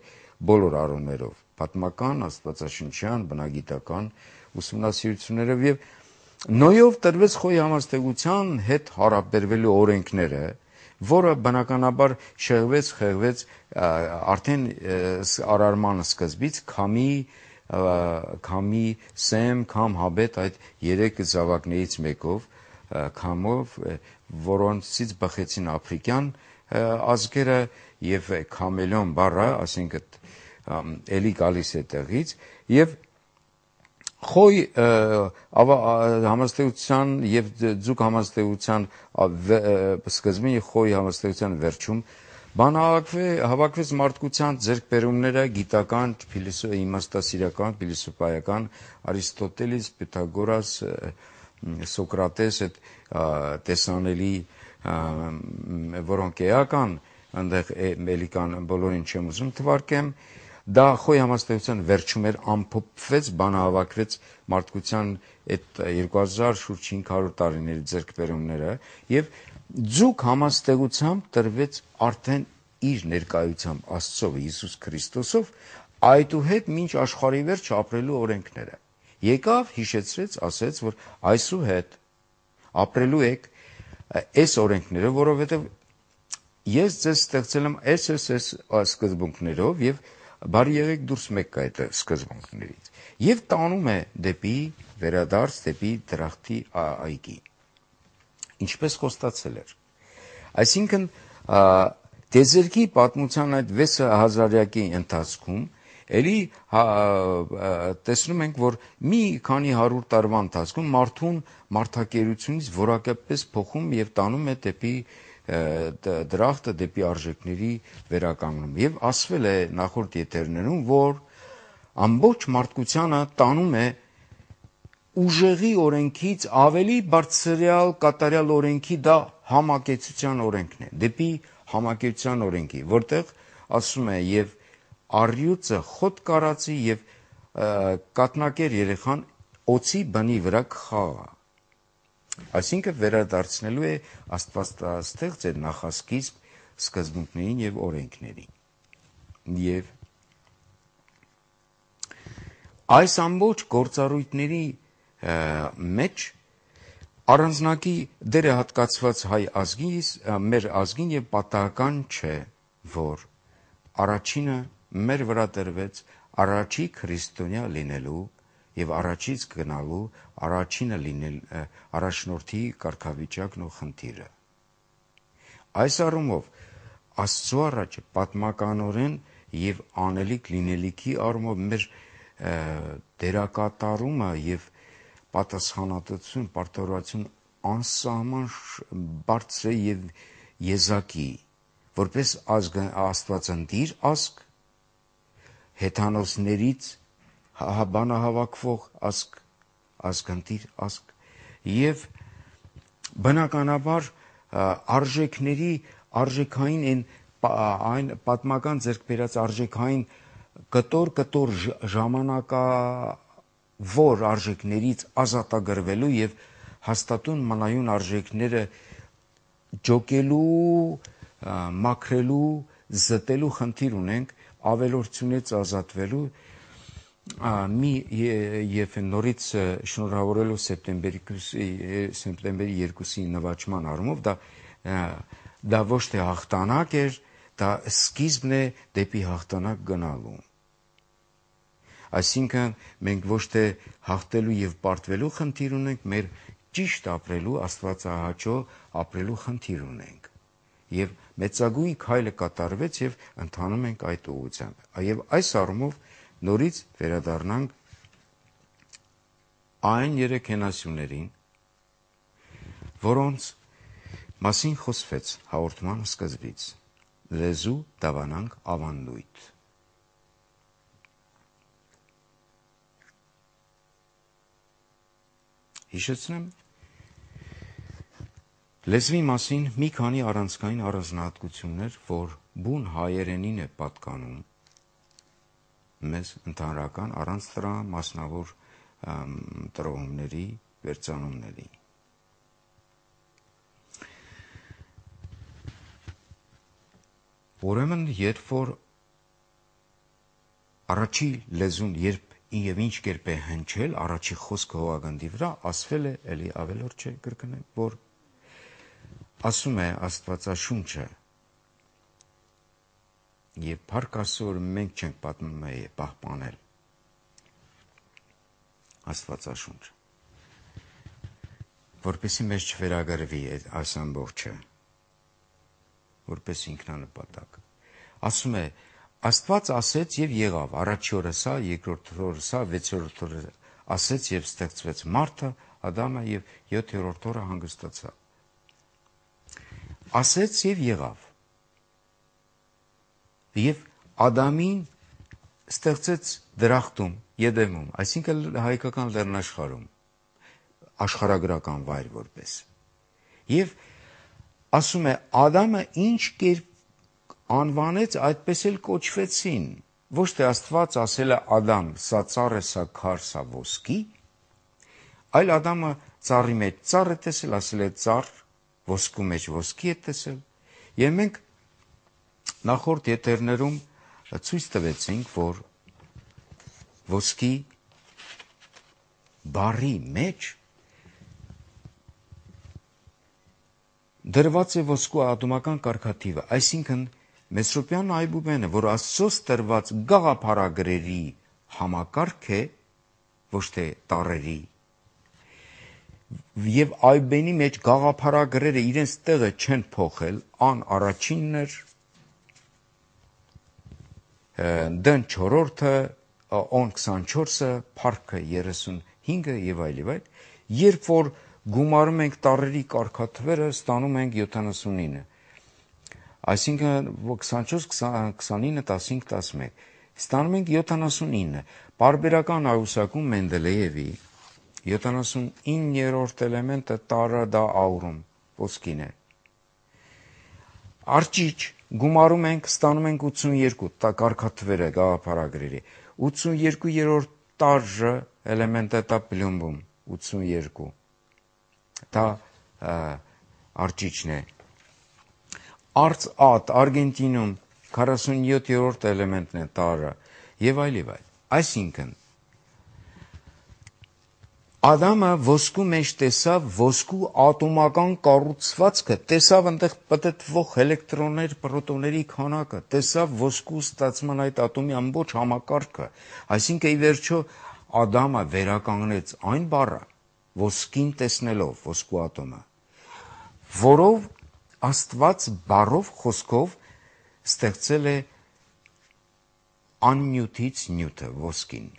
բոլոր առումներով, պատմական, աստվածաշնչյան, բնագիտական ուսումնասիրություններով եւ նոյով տրվեց խոյ համաստեղության հետ հարաբերվելու օրենքները, որը բնականաբար շեղվեց, խեղվեց արդեն արարման սկզբից քամի, քամի, սեմ, քամ, հաբետ այդ երեք զավակներից մեկով, քամով, որոնցից բխեցին աֆրիկյան ազգերը եւ քամելոն բառը, ասինքն էլի գալիս է տեղից եւ խոյ համաստեղության եւ ձուկ համաստեղության սկզբին եւ խոյ համաստեղության վերջում բանահավաքվեց մարդկության ձեռքբերումները գիտական, իմաստասիրական, փիլիսոփայական, Արիստոտելես, Պյութագորաս, Սոկրատես, այդ տեսանելի, որոնք էական, այնտեղ էլի կան, բոլորին չեմ ուզում թվարկեմ, դա խոյ համաստեղության վերջում էր, ամփոփվեց, բանահավաքվեց մարդկության այդ երկու հազար շուրջ հինգ հարյուր տարիների ձեռքբերումները եւ ձուկ համաստեղությամբ տրվեց արդեն իր ներկայությամբ Աստծով Հիսուս Քրիստոսով, այդուհետ մինչ աշխարհի վերջ ապրելու օրենքները։ Եկավ, հիշեցրեց, ասեց, որ այսուհետ ապրելու եք այս օրենքները, որովհետև ես ձեզ ստեղծել եմ այս այս այս սկզբունքներով եւ բարի եղեք դուրս մեկ այդ սկզբունքներից։ Եվ տանում է դեպի վերադարձ, դեպի դրախտի այգի։ Ինչպես խոստացել էր։ Այսինքն Տեզերքի պատմության այդ վեց հազարյակի ընթացքում էլի տեսնում ենք, որ մի քանի հարյուր տարվա ընթացքում մարդուն մարդակերությունից որակապես փոխում եւ տանում է դեպի դրախտը, դեպի արժեքների վերականգնում։ Եվ ասվել է նախորդ եթերներում, որ ամբողջ մարդկությանը տանում է ուժեղի օրենքից ավելի բարձրյալ կատարյալ օրենքի, դա համակեցության օրենքն է, դեպի համակեցության օրենքի, որտեղ ասում է եւ առյուծը խոտ կարածի եւ կատնակեր երեխան օծի բնի վրա կխաղա։ Այսինքն վերադարձնելու է Աստվածաստեղծ այդ նախասկիզբ սկզբունքներին եւ օրենքներին։ Եվ այս ամբողջ գործառույթների մեջ առանձնակի դեր է հատկացված հայ ազգին, մեր ազգին եւ պատահական չէ, որ առաջինը մեր վրա տրվեց առաջի քրիստոնյա լինելու եւ առաջից գնալու առաջինը լինել առաջնորդի կարգավիճակն ու խնդիրը։ Այս առումով Աստծո առաջ պատմականորեն եւ անելիք լինելիքի առումով մեր դերակատարումը եւ պատասխանատվություն, պարտավորություն անսահման բարձր է եւ եզակի, որպես ազգ աստվածնդիր ազգ, հեթանոսներից բանահավաքվող ազգ, ազգնդիր ազգ եւ բնականաբար արժեքների արժեքային այն այն պատմական ձեռք բերած արժեքային կտոր-կտոր ժամանակա որ արժեքներից ազատագրվելու եւ հաստատուն մնայուն արժեքները ջոկելու, մաքրելու, զտելու խնդիր ունենք, ավելորդությունից ազատվելու մի եւ նորից շնորհավորելով սեպտեմբերի երկուսի նվաճման առումով դա դա ոչ թե հաղթանակ էր, դա սկիզբն է դեպի հաղթանակ գնալու։ Այսինքն մենք ոչ թե հաղթելու եւ պարտվելու խնդիր ունենք, մեր ճիշտ ապրելու, Աստվածահաճո ապրելու խնդիր ունենք։ Եվ մեծագույն քայլը կատարվեց եւ ընթանում ենք այդ ուղղությամբ։ Եվ այս առումով նորից վերադառնանք այն երեք հենասյուներին, որոնց մասին խոսվեց հաղորդման սկզբից. լեզու, դավանանք, ավանդույթ։ Հիշեցնեմ, լեզվի մասին մի քանի առանցքային առանձնահատկություններ, որ բուն հայերենին է պատկանում մեզ ընդհանրական առանց դրա մասնավոր տրոհումների, վերծանումների։ Ուրեմն, երբ որ առաջի լեզուն երբ եւ ինչ կերպ է հնչել առաջի խոսքը հողագնդի վրա, ասվել է, էլի ավելորդ չէ կրկնեմ, որ ասում է Աստվածաշունչը եւ Փառք Աստծո, մենք չենք պատմում է պահպանել Աստվածաշունչը, որպեսզի մեզ չվերագրվի այս ամբողջը, որպես ինքնանպատակ։ Ասում է Աստված ասեց եւ եղավ, առաջի օրը սա, երկրորդ օրը սա, վեցերորդ օրը ասեց եւ ստեղծվեց մարդը, Ադամը եւ յոթերորդ օրը հանգստացավ։ Ասեց եւ եղավ։ Եվ Ադամին ստեղծեց դրախտում, Եդեմում, այսինքն հայկական լեռնաշխարհում, աշխարհագրական վայր որպես։ Եվ ասում է Ադամը ինչ կերպ անվանեց, այդպես էլ կոչվեցին, ոչ թե Աստված ասել է Ադամ, սա ծառ է, սա քար, սա ոսկի, այլ Ադամը ծառի մեջ ծառ է տեսել, ասել է ծառ, ոսկու մեջ ոսկի է տեսել, եւ մենք նախորդ եթերներում ցույց տվեցինք, որ ոսկի բառի մեջ դրված է ոսկու ատոմական կարգաթիվը, այսինքն Մեսրոպյան այբուբենը, որ Աստծոց տրված գաղափարագրերի համակարգ է, ոչ թե տառերի, եւ այբենի մեջ գաղափարագրերը իրենց տեղը չեն փոխել, ան առաջինն էր, դն չորրորդը, on քսանչորսը, փառքը երեսունհինգը եւ այլ եւ այլ, երբ որ գումարում ենք տառերի կարգաթվերը, ստանում ենք յոթանասունինը, այսինքն քսանչորս, քսանինը, տասնհինգ, տասնմեկ, ստանում ենք յոթանասունինը, պարբերական աղյուսակում Մենդելեևի յոթանասունիններորդ էլեմենտը տարը դա աուրում, ոսկին է, արջիչ գումարում ենք, ստանում ենք ութսունյերկու, տա կարգաթվերը գաղափարագրերի, ութսունյերկուերորդ տարժը էլեմենտը տա պլյումբում, ութսունյերկու, դա արջիչն է, արծ ատ, Արգենտինում քառասունյոթերորդ էլեմենտն է տարը, եւ այլ եւ այլ, այսինքն, Ադամը ոսկու մեջ տեսավ ոսկու ատոմական կառուցվածքը, տեսավ այնտեղ պտտվող էլեկտրոններ, պրոտոնների քանակը, տեսավ ոսկու ստացման այդ ատոմի ամբողջ համակարգը, այսինքն ի վերջո Ադամը վերականգնեց այն բառը, ոսկին տեսնելով ոսկու ատոմը, որով Աստված բառով խոսքով ստեղծել է աննյութից նյութը ոսկին։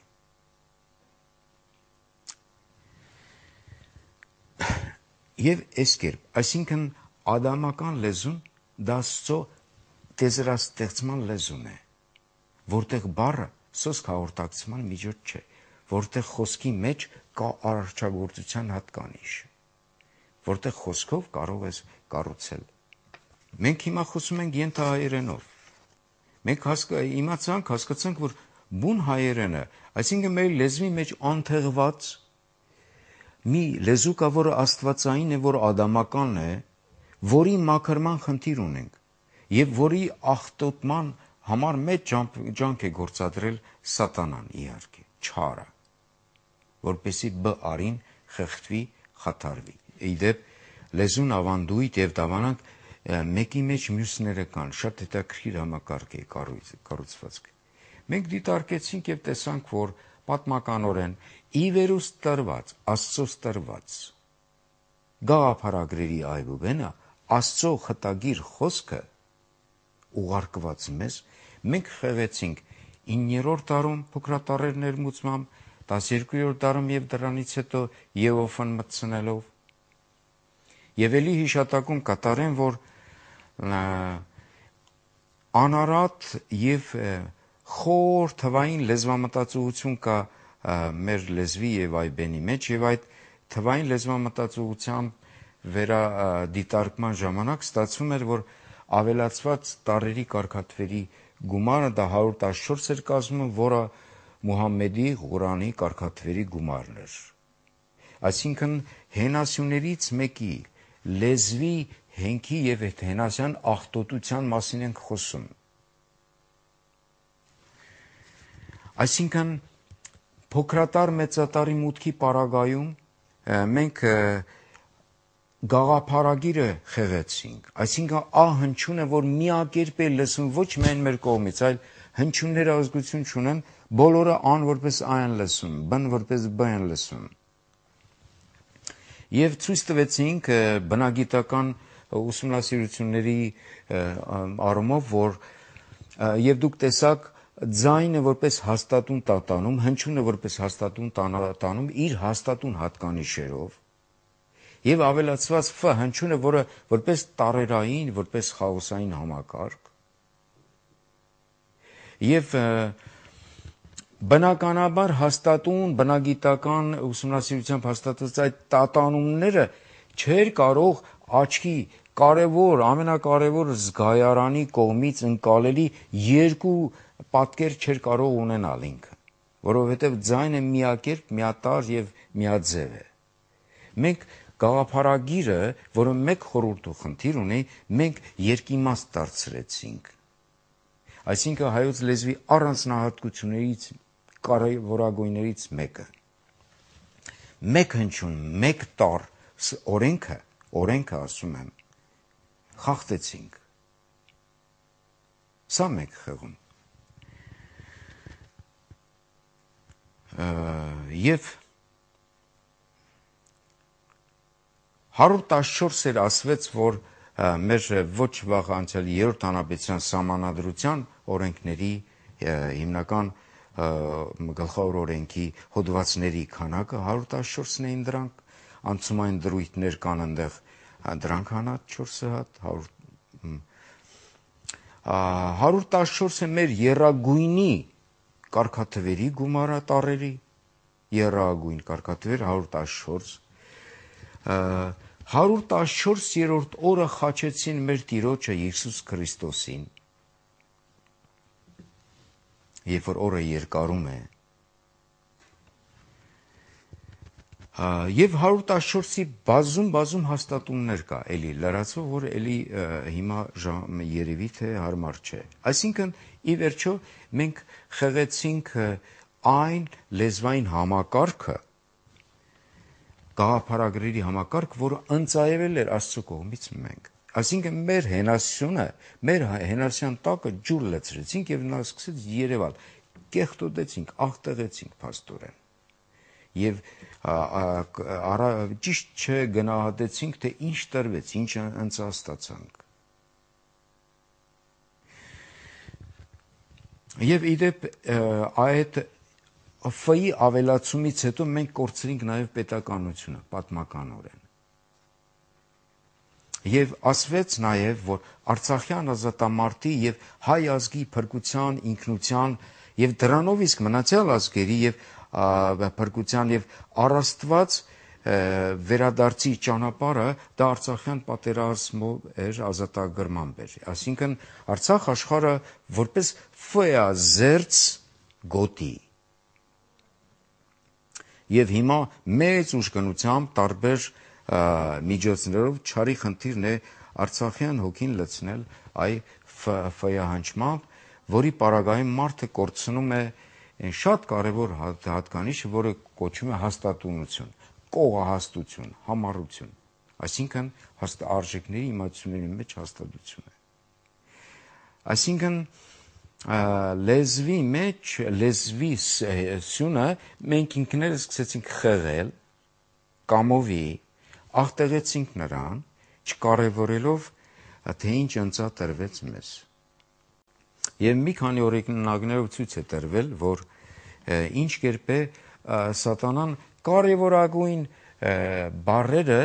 Եվ այս կերպ, այսինքն ադամական լեզուն դա Աստծո տեզրաստեղծման լեզուն է, որտեղ բառը սոսկ հաղորդակցման միջոց չէ, որտեղ խոսքի մեջ կա արարչագործության հատկանիշ, որտեղ խոսքով կարող ես կառուցել։ Մենք հիմա խոսում ենք ենթահայերենով։ Մենք իմացանք, հասկացանք, որ բուն հայերենը, այսինքն մեր լեզվի մեջ անթեղված մի լեզու կա, որը աստվածային է, որ ադամականն է, որի մաքրման խնդիր ունենք եւ որի աղտոտման համար մեծ ջանք է գործադրել սատանան, իհարկե, չարը, որպեսի բ արին խեղդվի, խաթարվի։ Իդեպ լեզուն ավանդույթ եւ դավանանք մեկի մեջ մյուսները կան, շատ հետաքրքիր համակարգ է կառուցվածք։ Մենք դիտարկեցինք եւ տեսանք, որ պատմականորեն ի վերուս տրված, Աստծոց տրված գաղափարագրերի այբուբենը, Աստծո խտագիր խոսքը ուղարկված մեզ, մենք խեղեցինք իններորդ դարում փոքրատառեր ներմուծմամբ, տասներկուերորդ դարում եւ դրանից հետո Եովան մտցնելով, եւ ելի հիշատակում կատարեն, որ անարատ եւ խոր թվային լեզվամտածողություն կա մեր լեզվի եւ այբենի մեջ, եւ այդ թվային լեզվամտածողությամբ վերադիտարկման ժամանակ ստացվում էր, որ ավելացված տառերի կարգաթվերի գումարը դա հարյուր տասնչորս էր կազմում, որը Մուհամմեդի Ղուրանի կարգաթվերի գումարն էր։ Այսինքն հենասյուներից մեկի լեզվի հենքի եւ հենասյան աղտոտության մասին ենք խոսում։ Այսինքն փոքրատար մեծատարի մուտքի պարագայում մենք գաղափարագիրը խեղեցինք, այսինքն ա հնչյունը, որ միակերպ է լսում ոչ միայն մեր կողմից, այլ հնչյունները ազգություն չունեն, բոլորը ան որպես ա են լսում, բն որպես բ են լսում։ Եվ ցույց տվեցինք բնագիտական ուսումնասիրությունների առումով, որ եւ դուք տեսաք ձայնը որպես հաստատուն տատանում, հնչյունը որպես հաստատուն տանում իր հաստատուն հատկանիշերով եւ ավելացված ֆ հնչյունը, որը որպես տարերային, որպես խաոսային համակարգ եւ բնականաբար հաստատուն բնագիտական ուսումնասիրությամբ հաստատած այդ տատանումները չէր կարող աչքի կարևոր, ամենակարևոր զգայարանի կողմից ընկալելի երկու պատկեր չէր կարող ունենալ ինքը, որովհետև ձայնը միակերպ, միատարր եւ միաձև է։ Մենք գաղափարագիրը, որը մեկ խորհուրդ ու խնդիր ունի, մենք երկիմաստ դարձրեցինք, Այսինքն հայոց լեզվի առանձնահատկություններից կարևորագույններից մեկը։ Մեկ հնչյուն, մեկ տառ օրենքը, օրենքը ասում եմ, խախտեցինք։ Սա մեկ խեղում։ Եվ հարյուր տասնչորս էր ասվեց, որ մեր ոչ վաղ անցյալ երրորդ հանրապետության սահմանադրության օրենքների հիմնական գլխավոր օրենքի հոդվածների քանակը հարյուր տասնչորսն էին դրանք, անցումային դրույթներ կան այնտեղ, դրանք հանած չորսը հատ, հարյուր տասնչորսը մեր եռագույնի կարգաթվերի գումարը տառերի, եռագույն կարգաթվեր հարյուր տասնչորս, հարյուր տասնչորսերորդ օրը խաչեցին մեր Տիրոջը Հիսուս Քրիստոսին, երբ որ օրը երկարում է, եւ հարյուր տասնչորսի բազում բազում հաստատումներ կա, էլի լրացվող, որ էլի հիմա երևի թե հարմար չէ։ Այսինքն ի վերջո մենք խեղեցինք այն լեզվային համակարգը, գաղափարագրերի համակարգ, որը ընծայվել էր Աստծո կողմից մենք։ Այսինքն մեր հենասյունը, մեր հենասյան տակը ջուր լցրեցինք եւ նա սկսեց երևալ, կեղտոտեցինք, աղտեղեցինք փաստորեն։ Եվ ճիշտ չգնահատեցինք, թե ինչ տրվեց, ինչ ընծաստացանք։ Եվ իդեպ այդ Ֆ-ի ավելացումից հետո մենք կորցրինք նաև պետականությունը, պատմականորեն։ Եվ ասվեց նաև, որ Արցախյան ազատամարտի եւ հայ ազգի փրկության, ինքնության եւ դրանով իսկ մնացյալ ազգերի եւ փրկության եւ առաստված վերադարձի ճանապարհը դա Արցախյան պատերազմով էր, ազատագրմամբ էր։ Այսինքն Արցախ աշխարհը որպես ֆեազերծ գոտի։ Եւ հիմա մեծ ուժգնությամբ տարբեր միջոցներով չարի խնդիրն է Արցախյան հոգին լցնել այ ֆեահանջմամբ, որի պարագայում մարդը կորցնում է այն շատ կարևոր հատկանիշը, որը կոչվում է հաստատունություն, կողահաստություն, համառություն, այսինքն արժեքների իմացությունների մեջ հաստատություն է։ Այսինքն լեզվի մեջ, լեզվի սյունը մենք ինքներս սկսեցինք խեղել, կամովի, աղտեղեցինք նրան, չկարևորելով, թե ինչ ընծա տրվեց մեզ։ Եվ մի քանի օրինակներով ցույց է տրվել, որ ինչ կերպ է սատանան կարևորագույն բառերը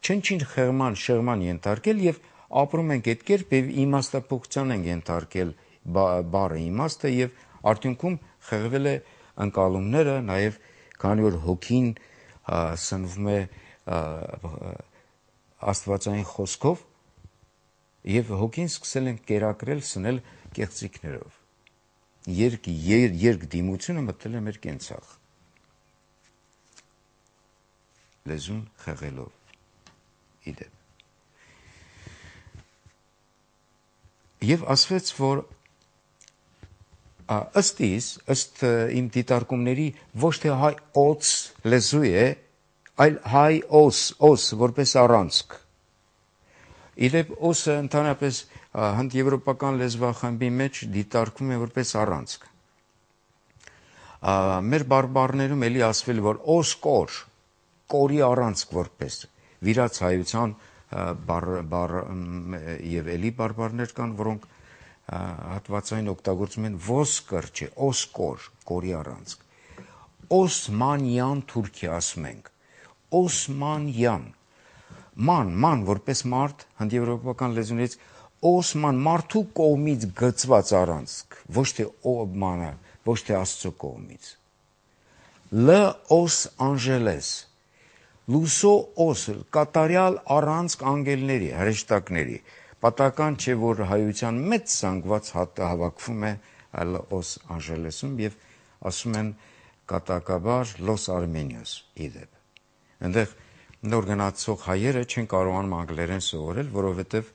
չնչին խեղման, շեղման ենթարկել եւ ապրում ենք այդ կերպ եւ իմաստափոխության ենք ենթարկել բառը իմաստը եւ արդյունքում խեղվել է ընկալումները, նաեւ քանի որ հոգին սնվում է աստվածային խոսքով եւ հոգին սկսել են կերակրել, սնել կեղծիքներով։ Երկ, եր, երկ դիմությունը մտել է մեր կենցաղ։ Լեզուն խեղելով իդեպ։ Եվ ասվեց, որ ըստ իս, ըստ իմ դիտարկումների ոչ թե հայ օց լեզու է, այլ հայ օս, օս, որպես առանցք։ Իդեպ օսը ընդհանրապես հնդեվրոպական լեզվախմբի մեջ դիտարկվում է որպես առանցք։ Մեր բարբառներում էլի ասվել, որ օս կոր, կորի առանցք որպես վիրած հայության եւ էլի բարբառներ կան, որոնք հատվածային օգտագործում են ոսկր, չէ, օսկոր, կորի առանցք։ Օսմանյան Թուրքիա ասում ենք, Օսմանյան, ման, ման որպես մարդ, հնդեվրոպական լեզուներից Օսման մարդու կողմից գծված առանցք, ոչ թե օմանը, ոչ թե Աստծո կողմից։ Լ օս անժելես, լուսո օս, կատարյալ առանցք անգելների, հրեշտակների, պատական չէ, որ հայության մեծ զանգված հավաքվում է Լ օս անժելեսում եւ ասում են կատակաբար Լոս Արմենիոս իդեպ։ Այնտեղ նոր գնացող հայերը չեն կարողանում անգլերեն սովորել, որովհետև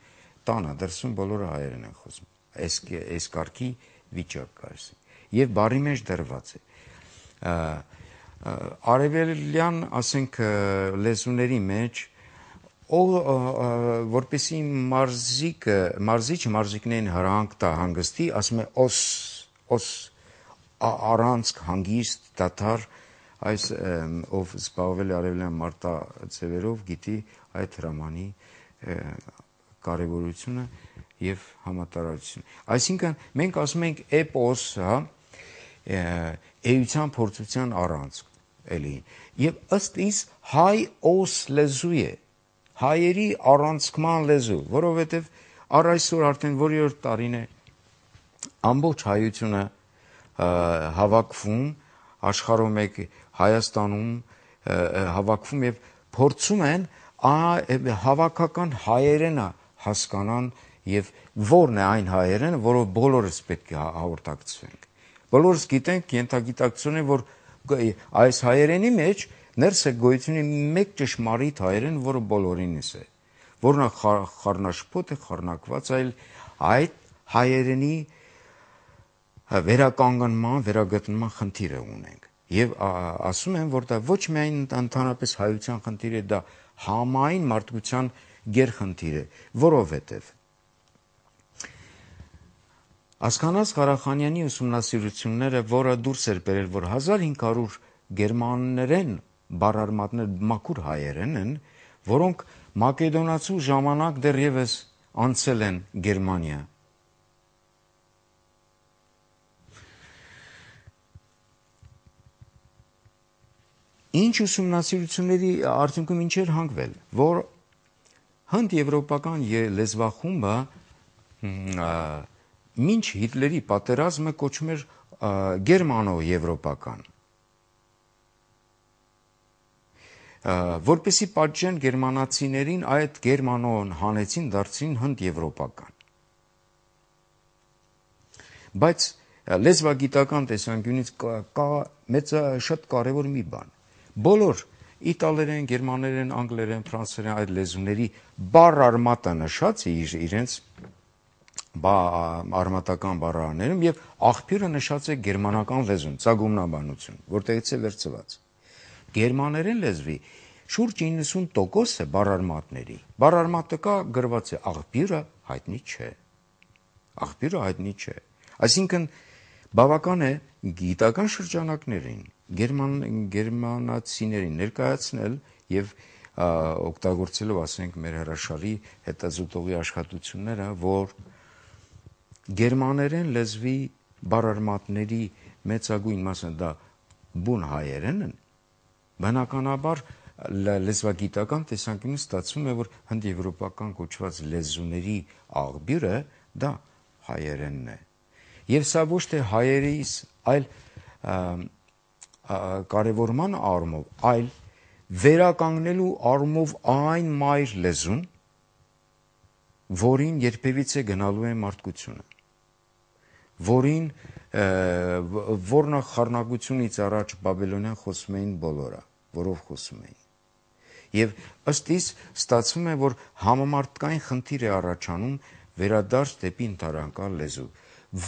տանը դրսում բոլորը հայերեն են խոսում։ այս կարգի վիճակ կա։ Եվ բարի մեջ դրված է։ Արևելյան, ասենք, լեզուների մեջ, որպեսի մարզիկը, մարզիչը մարզիկներին հրանք տա հանգստի, ասում է օս, օս, առանցք, հանգիստ, դադար, այս ով զբաղվել է արևելյան մարտաձևերով, գիտի այդ հրամանի կարևորությունը եւ համատարածությունը։ Այսինքն մենք ասում ենք էպոս, հա, էության փորձության առանցք, էլի։ Եվ ըստ իս հայ օս լեզու է, հայերի առանցքման լեզու, որովհետեւ առ այսօր արդեն որի-որ տարին է ամբողջ հայությունը հավաքվում, աշխարհում եք Հայաստանում հավաքվում եւ փորձում են հավաքական հայերենը հասկանան եւ որն է այն հայերենը, որով բոլորս պետք է հաղորդակցվենք։ Բոլորս գիտենք ենթագիտակցություն է, որ այս հայերենի մեջ ներս է գոյություն մեկ ճշմարիտ հայերեն, որը բոլորինս է, որն խառնաշփոթ է, խառնակված, այլ այդ հայերենի վերականգնման, վերագտնման խնդիրը ունենք։ Եվ ասում են, որ դա ոչ միայն ընդհանրապես հայության խնդիր է, դա համայն մարդկության գերխնդիր է, որովհետև Ասքանազ Ղարախանյանի ուսումնասիրությունները, որը դուրս էր բերել, որ հազար հինգ հարյուր գերմաներեն բառարմատներ մաքուր հայերեն են, որոնք մակեդոնացու ժամանակ դեռևս անցել են Գերմանիա։ Ինչ ուսումնասիրությունների արդյունքում ինչ էր հանգվել, որ հնդ-եվրոպական լեզվախումբը մինչ Հիտլերի պատերազմը կոչվում էր գերմանո-եվրոպական, որպեսի պատժեն գերմանացիներին, այդ գերմանոն հանեցին, դարձին հնդ-եվրոպական։ Բայց լեզվագիտական տեսանկյունից կա մեծ շատ կարևոր մի բան։ Բոլոր իտալերեն, գերմաներեն, անգլերեն, ֆրանսերեն այդ լեզուների բառարմատը նշած է իրենց արմատական բառարաններում եւ աղբյուրը նշած է գերմանական լեզուն, ծագումնաբանություն, որտեղից է վերցված։ Գերմաներեն լեզվի շուրջ իննսուն տոկոսը բառարմատների, բառարմատը կա գրված է, աղբյուրը հայտնի չէ։ Աղբյուրը հայտնի չէ։ Այսինքն բավական է գիտական շրջանակներին գերման գերմանացիներին ներկայացնել եւ օգտագործելով, ասենք, մեր հրաշալի հետազոտողի աշխատությունները, որ գերմաներեն լեզվի բառարմատների մեծագույն մասը դա բուն հայերեն են, բնականաբար լեզվագիտական տեսանկյունից ստացվում է, որ հնդեվրոպական կոչված լեզուների աղբյուրը դա հայերենն է։ Եվ սա ոչ թե հայերիս, այլ կարևորման առումով, այլ վերականգնելու առումով այն մայր լեզուն, որին երբևիցե գնալու է մարդկությունը, որին որնա խառնակությունից առաջ բաբելոնյան խոսում էին բոլորը, որով խոսում էին։ Եվ ըստ իս ստացվում է, որ համամարտկային խնդիր է առաջանում վերադարձ դեպի ընդհանրական լեզու,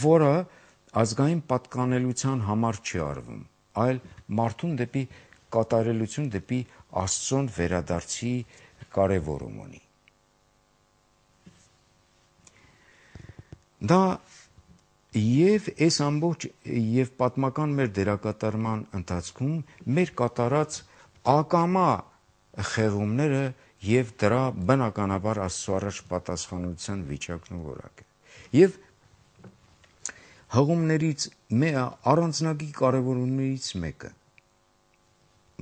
որը ազգային պատկանելության համար չի արվում, այլ մարդուն դեպի կատարելություն, դեպի Աստծուն վերադարձի կարևորում ունի։ Դա եւ այս ամբողջ եւ պատմական մեր դերակատարման ընթացքում մեր կատարած ակամա խեղումները եւ դրա բնականաբար Աստծո առաջ պատասխանության վիճակն ու որակը։ Եվ հղումներից առանձնագի կարևորություններից մեկը,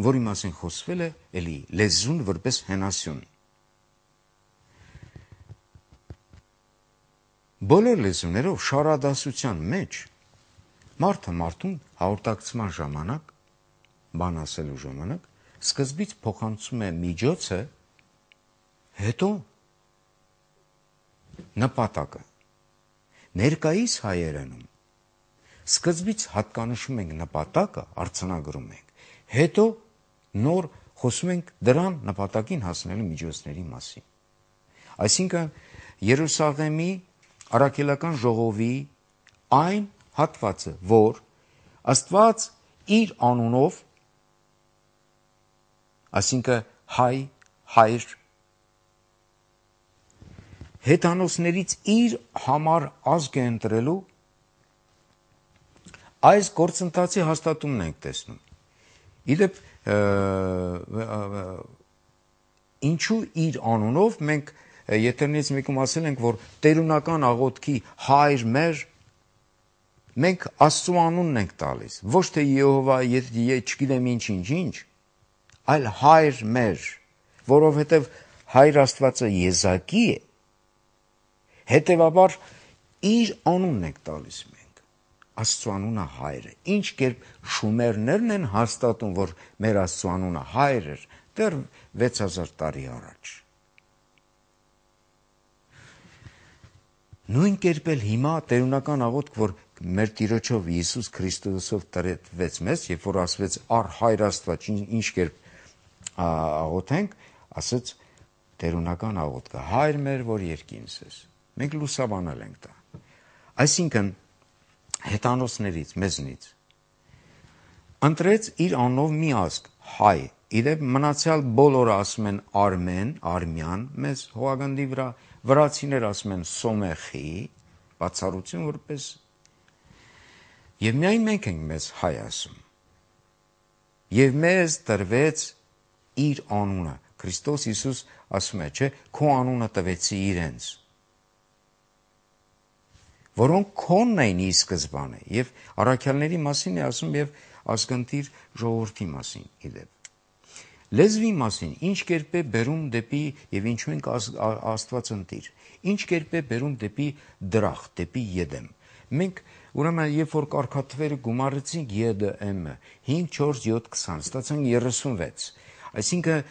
որի մասին խոսվել է, էլի լեզուն որպես հենասյուն։ Բոլոր լեզուներով շարադասության մեջ մարդը մարդուն հաղորդակցման ժամանակ, բան ասելու ժամանակ, սկզբից փոխանցում է միջոցը, հետո նպատակը։ Ներկայիս հայերենում սկզբից հատկանշում ենք նպատակը, արձանագրում ենք, հետո նոր խոսում ենք դրան նպատակին հասնելու միջոցների մասին։ Այսինքն Երուսաղեմի առաքելական ժողովի այն հատվածը, որ Աստված իր անունով, այսինքն հայ, հայր, հեթանոսներից իր համար ազգ է ընտրելու, այս գործընթացի հաստատումն ենք տեսնում։ Իդեպ ինչու իր անունով մենք եթերներից մեկում ասել ենք, որ տերունական աղոթքի հայր մեր, մենք Աստծու անունն ենք տալիս, ոչ թե Եհովա, չգիտեմ ինչ-ինչ-ինչ, այլ հայր մեր, որովհետև հայր Աստվածը եզակի է, հետևաբար իր անունն ենք տալիս մենք, Աստծու անունը հայր է, ինչ կերպ շումերներն են հաստատում, որ մեր Աստծու անունը հայր էր, դեռ վեց հազար տարի առաջ։ Նույն կերպ էլ հիմա տերունական աղոթք, որ մեր Տիրոջով Հիսուս Քրիստոսով տրվեց մեզ, երբ որ ասվեց առ հայր Աստված, ինչ կերպ աղոթենք, ասեց տերունական աղոթքը, հայր մեր, որ երկինս ես։ Մենք լուսաբանել ենք դա։ Այսինքն հեթանոսներից, մեզնից ընտրեց իր անունով մի ազգ, հայ, իդեպ մնացյալ բոլորը ասում են արմեն, արմյան, մեզ հողագնդի վրա, վրացիներ ասում են սոմեխի, բացառություն որպես, և միայն մենք ենք մեզ հայ ասում, և մեզ տրվեց իր անունը, Քրիստոս Հիսուս ասում է, չէ, քո անունը տվեցի իրենց, որոնք քոնն էին ի սկզբանը, և առաքյալների մասին է ասում և ազգընտիր ժողովրդի մասին իդեպ։ Լեզվի մասին, ինչ կերպ է բերում դեպի և ինչու ենք Աստված ընտիր, ինչ կերպ է բերում դեպի դրախտ, դեպի եդեմ։ Մենք ուրեմն երբ որ կարգաթվերը գումարեցինք Ե Դ Մ-ը հինգ, չորս, յոթ, քսան, ստացանք երեսունվեց, այսինքն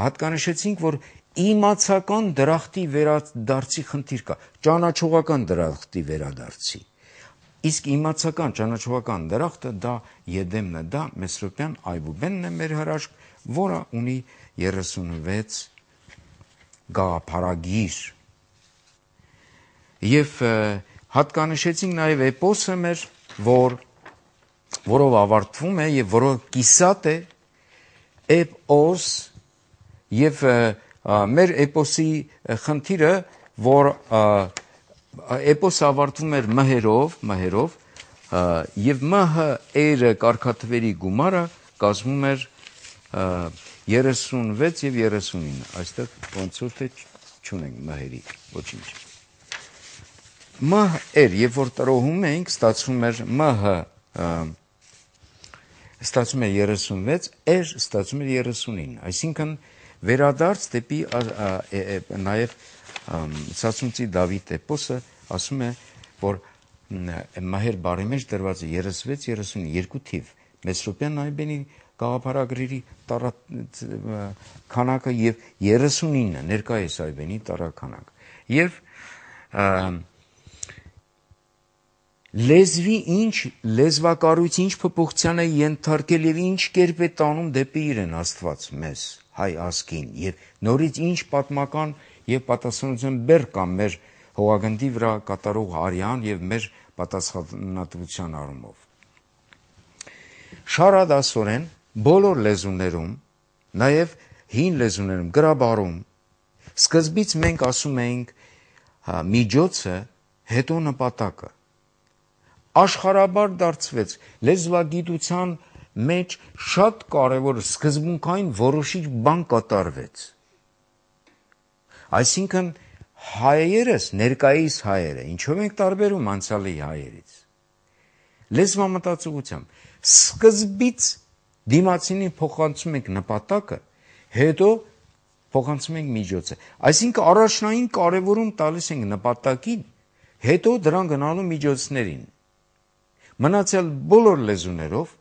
հատկանշեցինք, որ իմացական դրախտի վերադարձի խնդիր կա, ճանաչողական դրախտի վերադարձի, իսկ իմացական ճանաչողական դրախտը դա եդեմն է, դա Մեսրոպյան այբուբենն է մեր հրաշք, որը ունի երեսունվեց գաղափարագիր։ Եվ հատկանշեցինք նաև էպոսը մեր, որ, որով ավարտվում է և որով կիսատ է էպոս և մեր էպոսի խնդիրը, որ էպոսը ավարտվում էր մհերով, մհերով և մհ էրը կարգաթվերի գումարը կազմում էր երեսունվեց և երեսունինը, այստեղ ոնց որ թե չունենք մհերի, ոչինչ։ Մհ էր, երբ որ տրոհում էինք, ստացվում էր մհ, ստացվում էր երեսունվեց, էր ստացվում էր երեսունինը, այսինքն վերադարձ դեպի նաև Սասունցի Դավիթ էպոսը ասում է, որ մահեր բարի մեջ դրված է երեսվեց, երեսունին, երկու թիվ, Մեսրոպյան այբենի գաղափարագրերի քանակը և երեսունինը ներկայիս այբենի տարաքանակ։ Եվ լեզվի ինչ, լեզվակառույցի ինչ փոփոխության է ենթարկել և ինչ կերպ է տանում դեպի իրեն Աստված մեզ, հայ ազգին, և նորից ինչ պատմական և պատասխանատվության բեռ կա մեր հողագնդի վրա կատարող արյան և մեր պատասխանատվության առումով։ Շարադասորեն բոլոր լեզուներում, նաև հին լեզուներում, գրաբարում, սկզբից մենք ասում էինք միջոցը, հետո նպատակը։ Աշխարհաբար դարձվեց լեզվագիտության մեջ շատ կարևոր սկզբունքային որոշիչ բան կատարվեց։ Այսինքն հայերս, ներկայիս հայերը, ինչով ենք տարբերում անցյալի հայերից։ Լեզվամտածողությամբ սկզբից դիմացինին փոխանցում ենք նպատակը, հետո փոխանցում ենք միջոցը։ Այսինքն առաջնային կարևորում տալիս ենք նպատակին, հետո դրան գնալու միջոցներին։ Մնացյալ բոլոր լեզուներով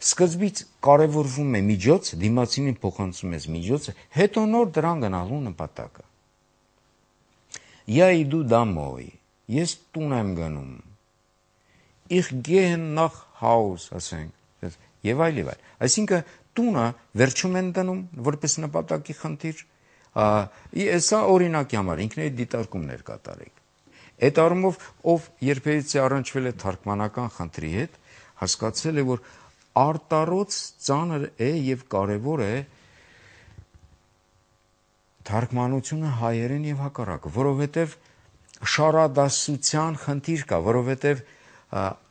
սկզբից կարևորվում է միջոց, դիմացինին փոխանցում ես միջոցը, հետո նոր դրան գնալու նպատակը։ Я иду домой, ես տուն եմ գնում։ Ich gehe nach Haus, ասենք, եւ այլ եւ այլ։ Այսինքն տունը վերջում են դնում որպես նպատակի խնդիր, Սա օրինակի համար ինքների դիտարկումներ կատարեք։ Այդ առումով ով երբևիցե առնչվել է թարգմանական խնդրի հետ, հասկացել է, որ արտառոց ծանր է եւ կարեւոր է թարգմանությունը հայերեն եւ հակառակը, որովհետեւ շարադասության խնդիր կա, որովհետեւ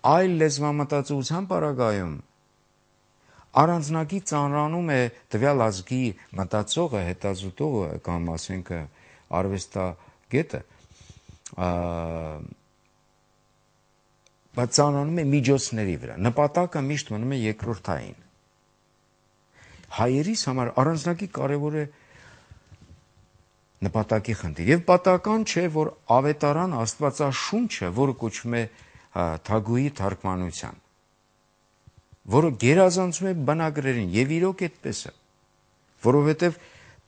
այլ լեզվամտածողության պարագայում առանձնակի ծանրանում է տվյալ ազգի մտածողը, հետազոտողը կամ ասենք արվեստագետը, բայց ծանրանում է միջոցների վրա, նպատակը միշտ մնում է երկրորդային։ Հայերիս համար առանձնակի կարևոր է նպատակի խնդիր եւ պատահական չէ, որ ավետարան Աստվածաշունչը, որը կոչվում է Թագուհի թարգմանության, որը գերազանցում է բնագրերին եւ իրոք այդպես է, որովհետեւ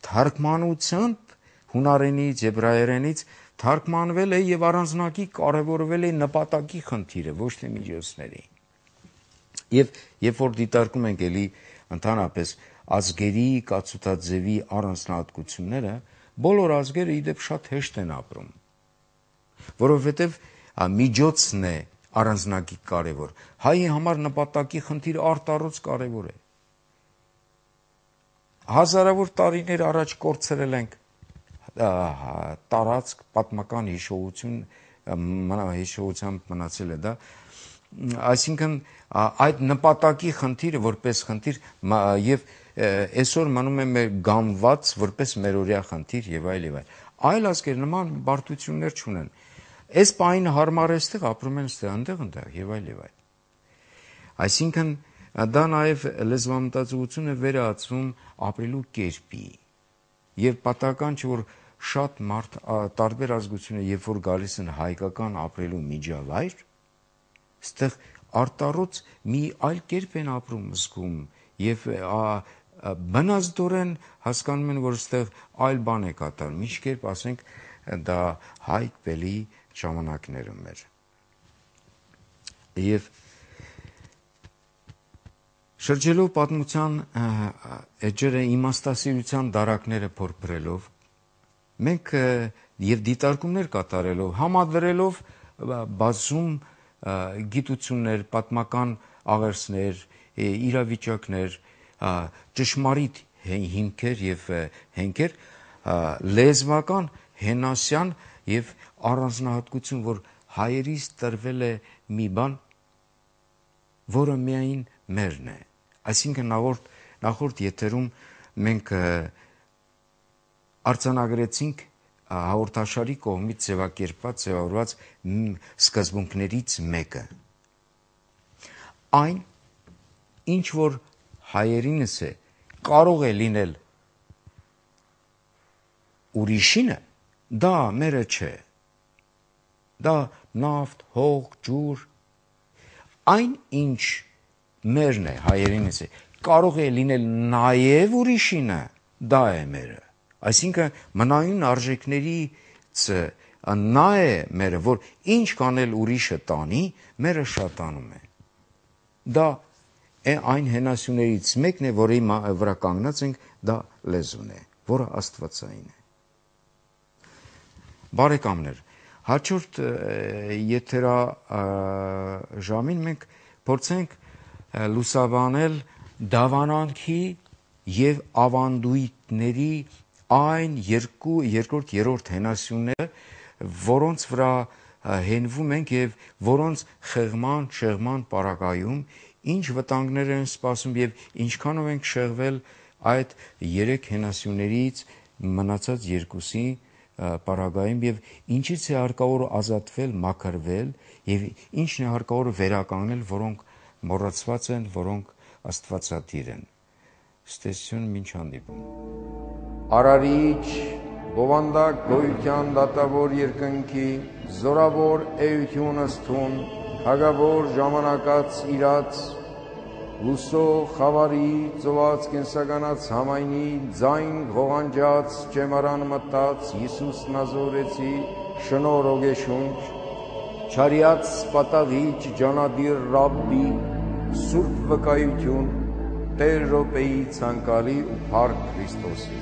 թարգմանությամբ հունարենից, եբրայերենից թարգմանվել է եւ առանձնակի կարեւորվել է նպատակի խնդիրը, ոչ թե միջոցների։ Եվ երբ որ դիտարկում ենք էլի ընդհանրապես ազգերի կացութաձևի առանձնահատկությունները, բոլոր ազգերը իդեպ շատ հեշտ են ապրում, որովհետև միջոցն է առանձնակի կարևոր։ Հայի համար նպատակի խնդիր արտառոց կարևոր է։ Հազարավոր տարիներ առաջ կորցրել ենք տարածք, պատմական հիշողություն, հիշողությամբ մնացել է դա, այսինքն այդ նպատակի խնդիրը որպես խնդիր եւ այսօր մնում է մեր գամված որպես մերօրյա խնդիր եւ այլ եւ այլ։ Այլ ազգեր նման բարդություններ չունեն։ Այս պահին հարմար էստեղ ապրում են ստեղ, այնտեղ, այնտեղ եւ այլ եւ այլ։ Այսինքն դա նաեւ լեզվամտածողությունը վերածում ապրելու կերպի եւ պատահական չէ որ շատ մարդ տարբեր ազգություններ երբ որ գալիս են հայկական ապրելու միջավայր, ստեղ արտառոց մի այլ կերպ են ապրում զգում եւ բնազդորեն հասկանում են, որ ստեղ այլ բան է կատարում, ինչ կերպ ասենք դա հայք բելի ժամանակներում էր։ Եվ շրջելով պատմության էջերը իմաստասիրության դարակները փորփրելով, մենք եւ դիտարկումներ կատարելով, համադրելով բազում գիտություններ, պատմական աղերսներ, իրավիճակներ, ճշմարիտ հիմքեր եւ հենքեր, լեզվական հենասյան եւ առանձնահատկություն, որ հայերից տրվել է մի բան, որը միայն մերն է։ Այսինքն նախորդ նախորդ եթերում մենք արձանագրեցինք հաղորդաշարի կողմից ձևակերպված, ձևավորված սկզբունքներից մեկը։ Այն, ինչ որ հայերինս է, կարող է լինել ուրիշինը, դա մերը չէ։ Դա նավթ, հող, ջուր, այն ինչ մերն է, հայերինս է, կարող է լինել նաև ուրիշինը, դա է մերը։ Այսինքն մնայուն արժեքներից նա է մերը, որ ինչ կանել ուրիշը տանի, մերը շատանում է։ Դա այն հենասյուներից մեկն է, որի վրա կանգնած ենք, դա լեզուն է, որը աստվածային է։ Բարեկամներ, հաջորդ եթերաժամին մենք փորձենք լուսաբանել դավանանքի եւ ավանդույթների այն երկու երկրորդ երրորդ հենասյուները, որոնց վրա հենվում ենք եւ որոնց խեղման, շեղման պարագայում ինչ վտանգներ են սպասում եւ ինչքանով ենք շեղվել այդ երեք հենասյուներից մնացած երկուսի պարագայում եւ ինչից է հարկավոր ազատվել, մաքրվել եւ ինչն է հարկավոր վերականգնել, որոնք մոռացված են, որոնք աստվածատիր են։ Ստեսություն մինչ հանդիպում։ Արարիչ, բովանդակ գոյության դատավոր երկնքի, զորավոր էությունը ստուն, հագավոր ժամանակած իրաց, լուսո խավարի, ծոված կենսականած համայնի, ձայն ղողանջած, ճեմարան մտած, Հիսուս նազորեցի, շնոր ոգեշունչ, չարյաց պատաղիչ, ջանադիր ռաբբի, սուրբ վկայություն, Տեր Ռոպեի ցանկալի ու փառք Քրիստոսի։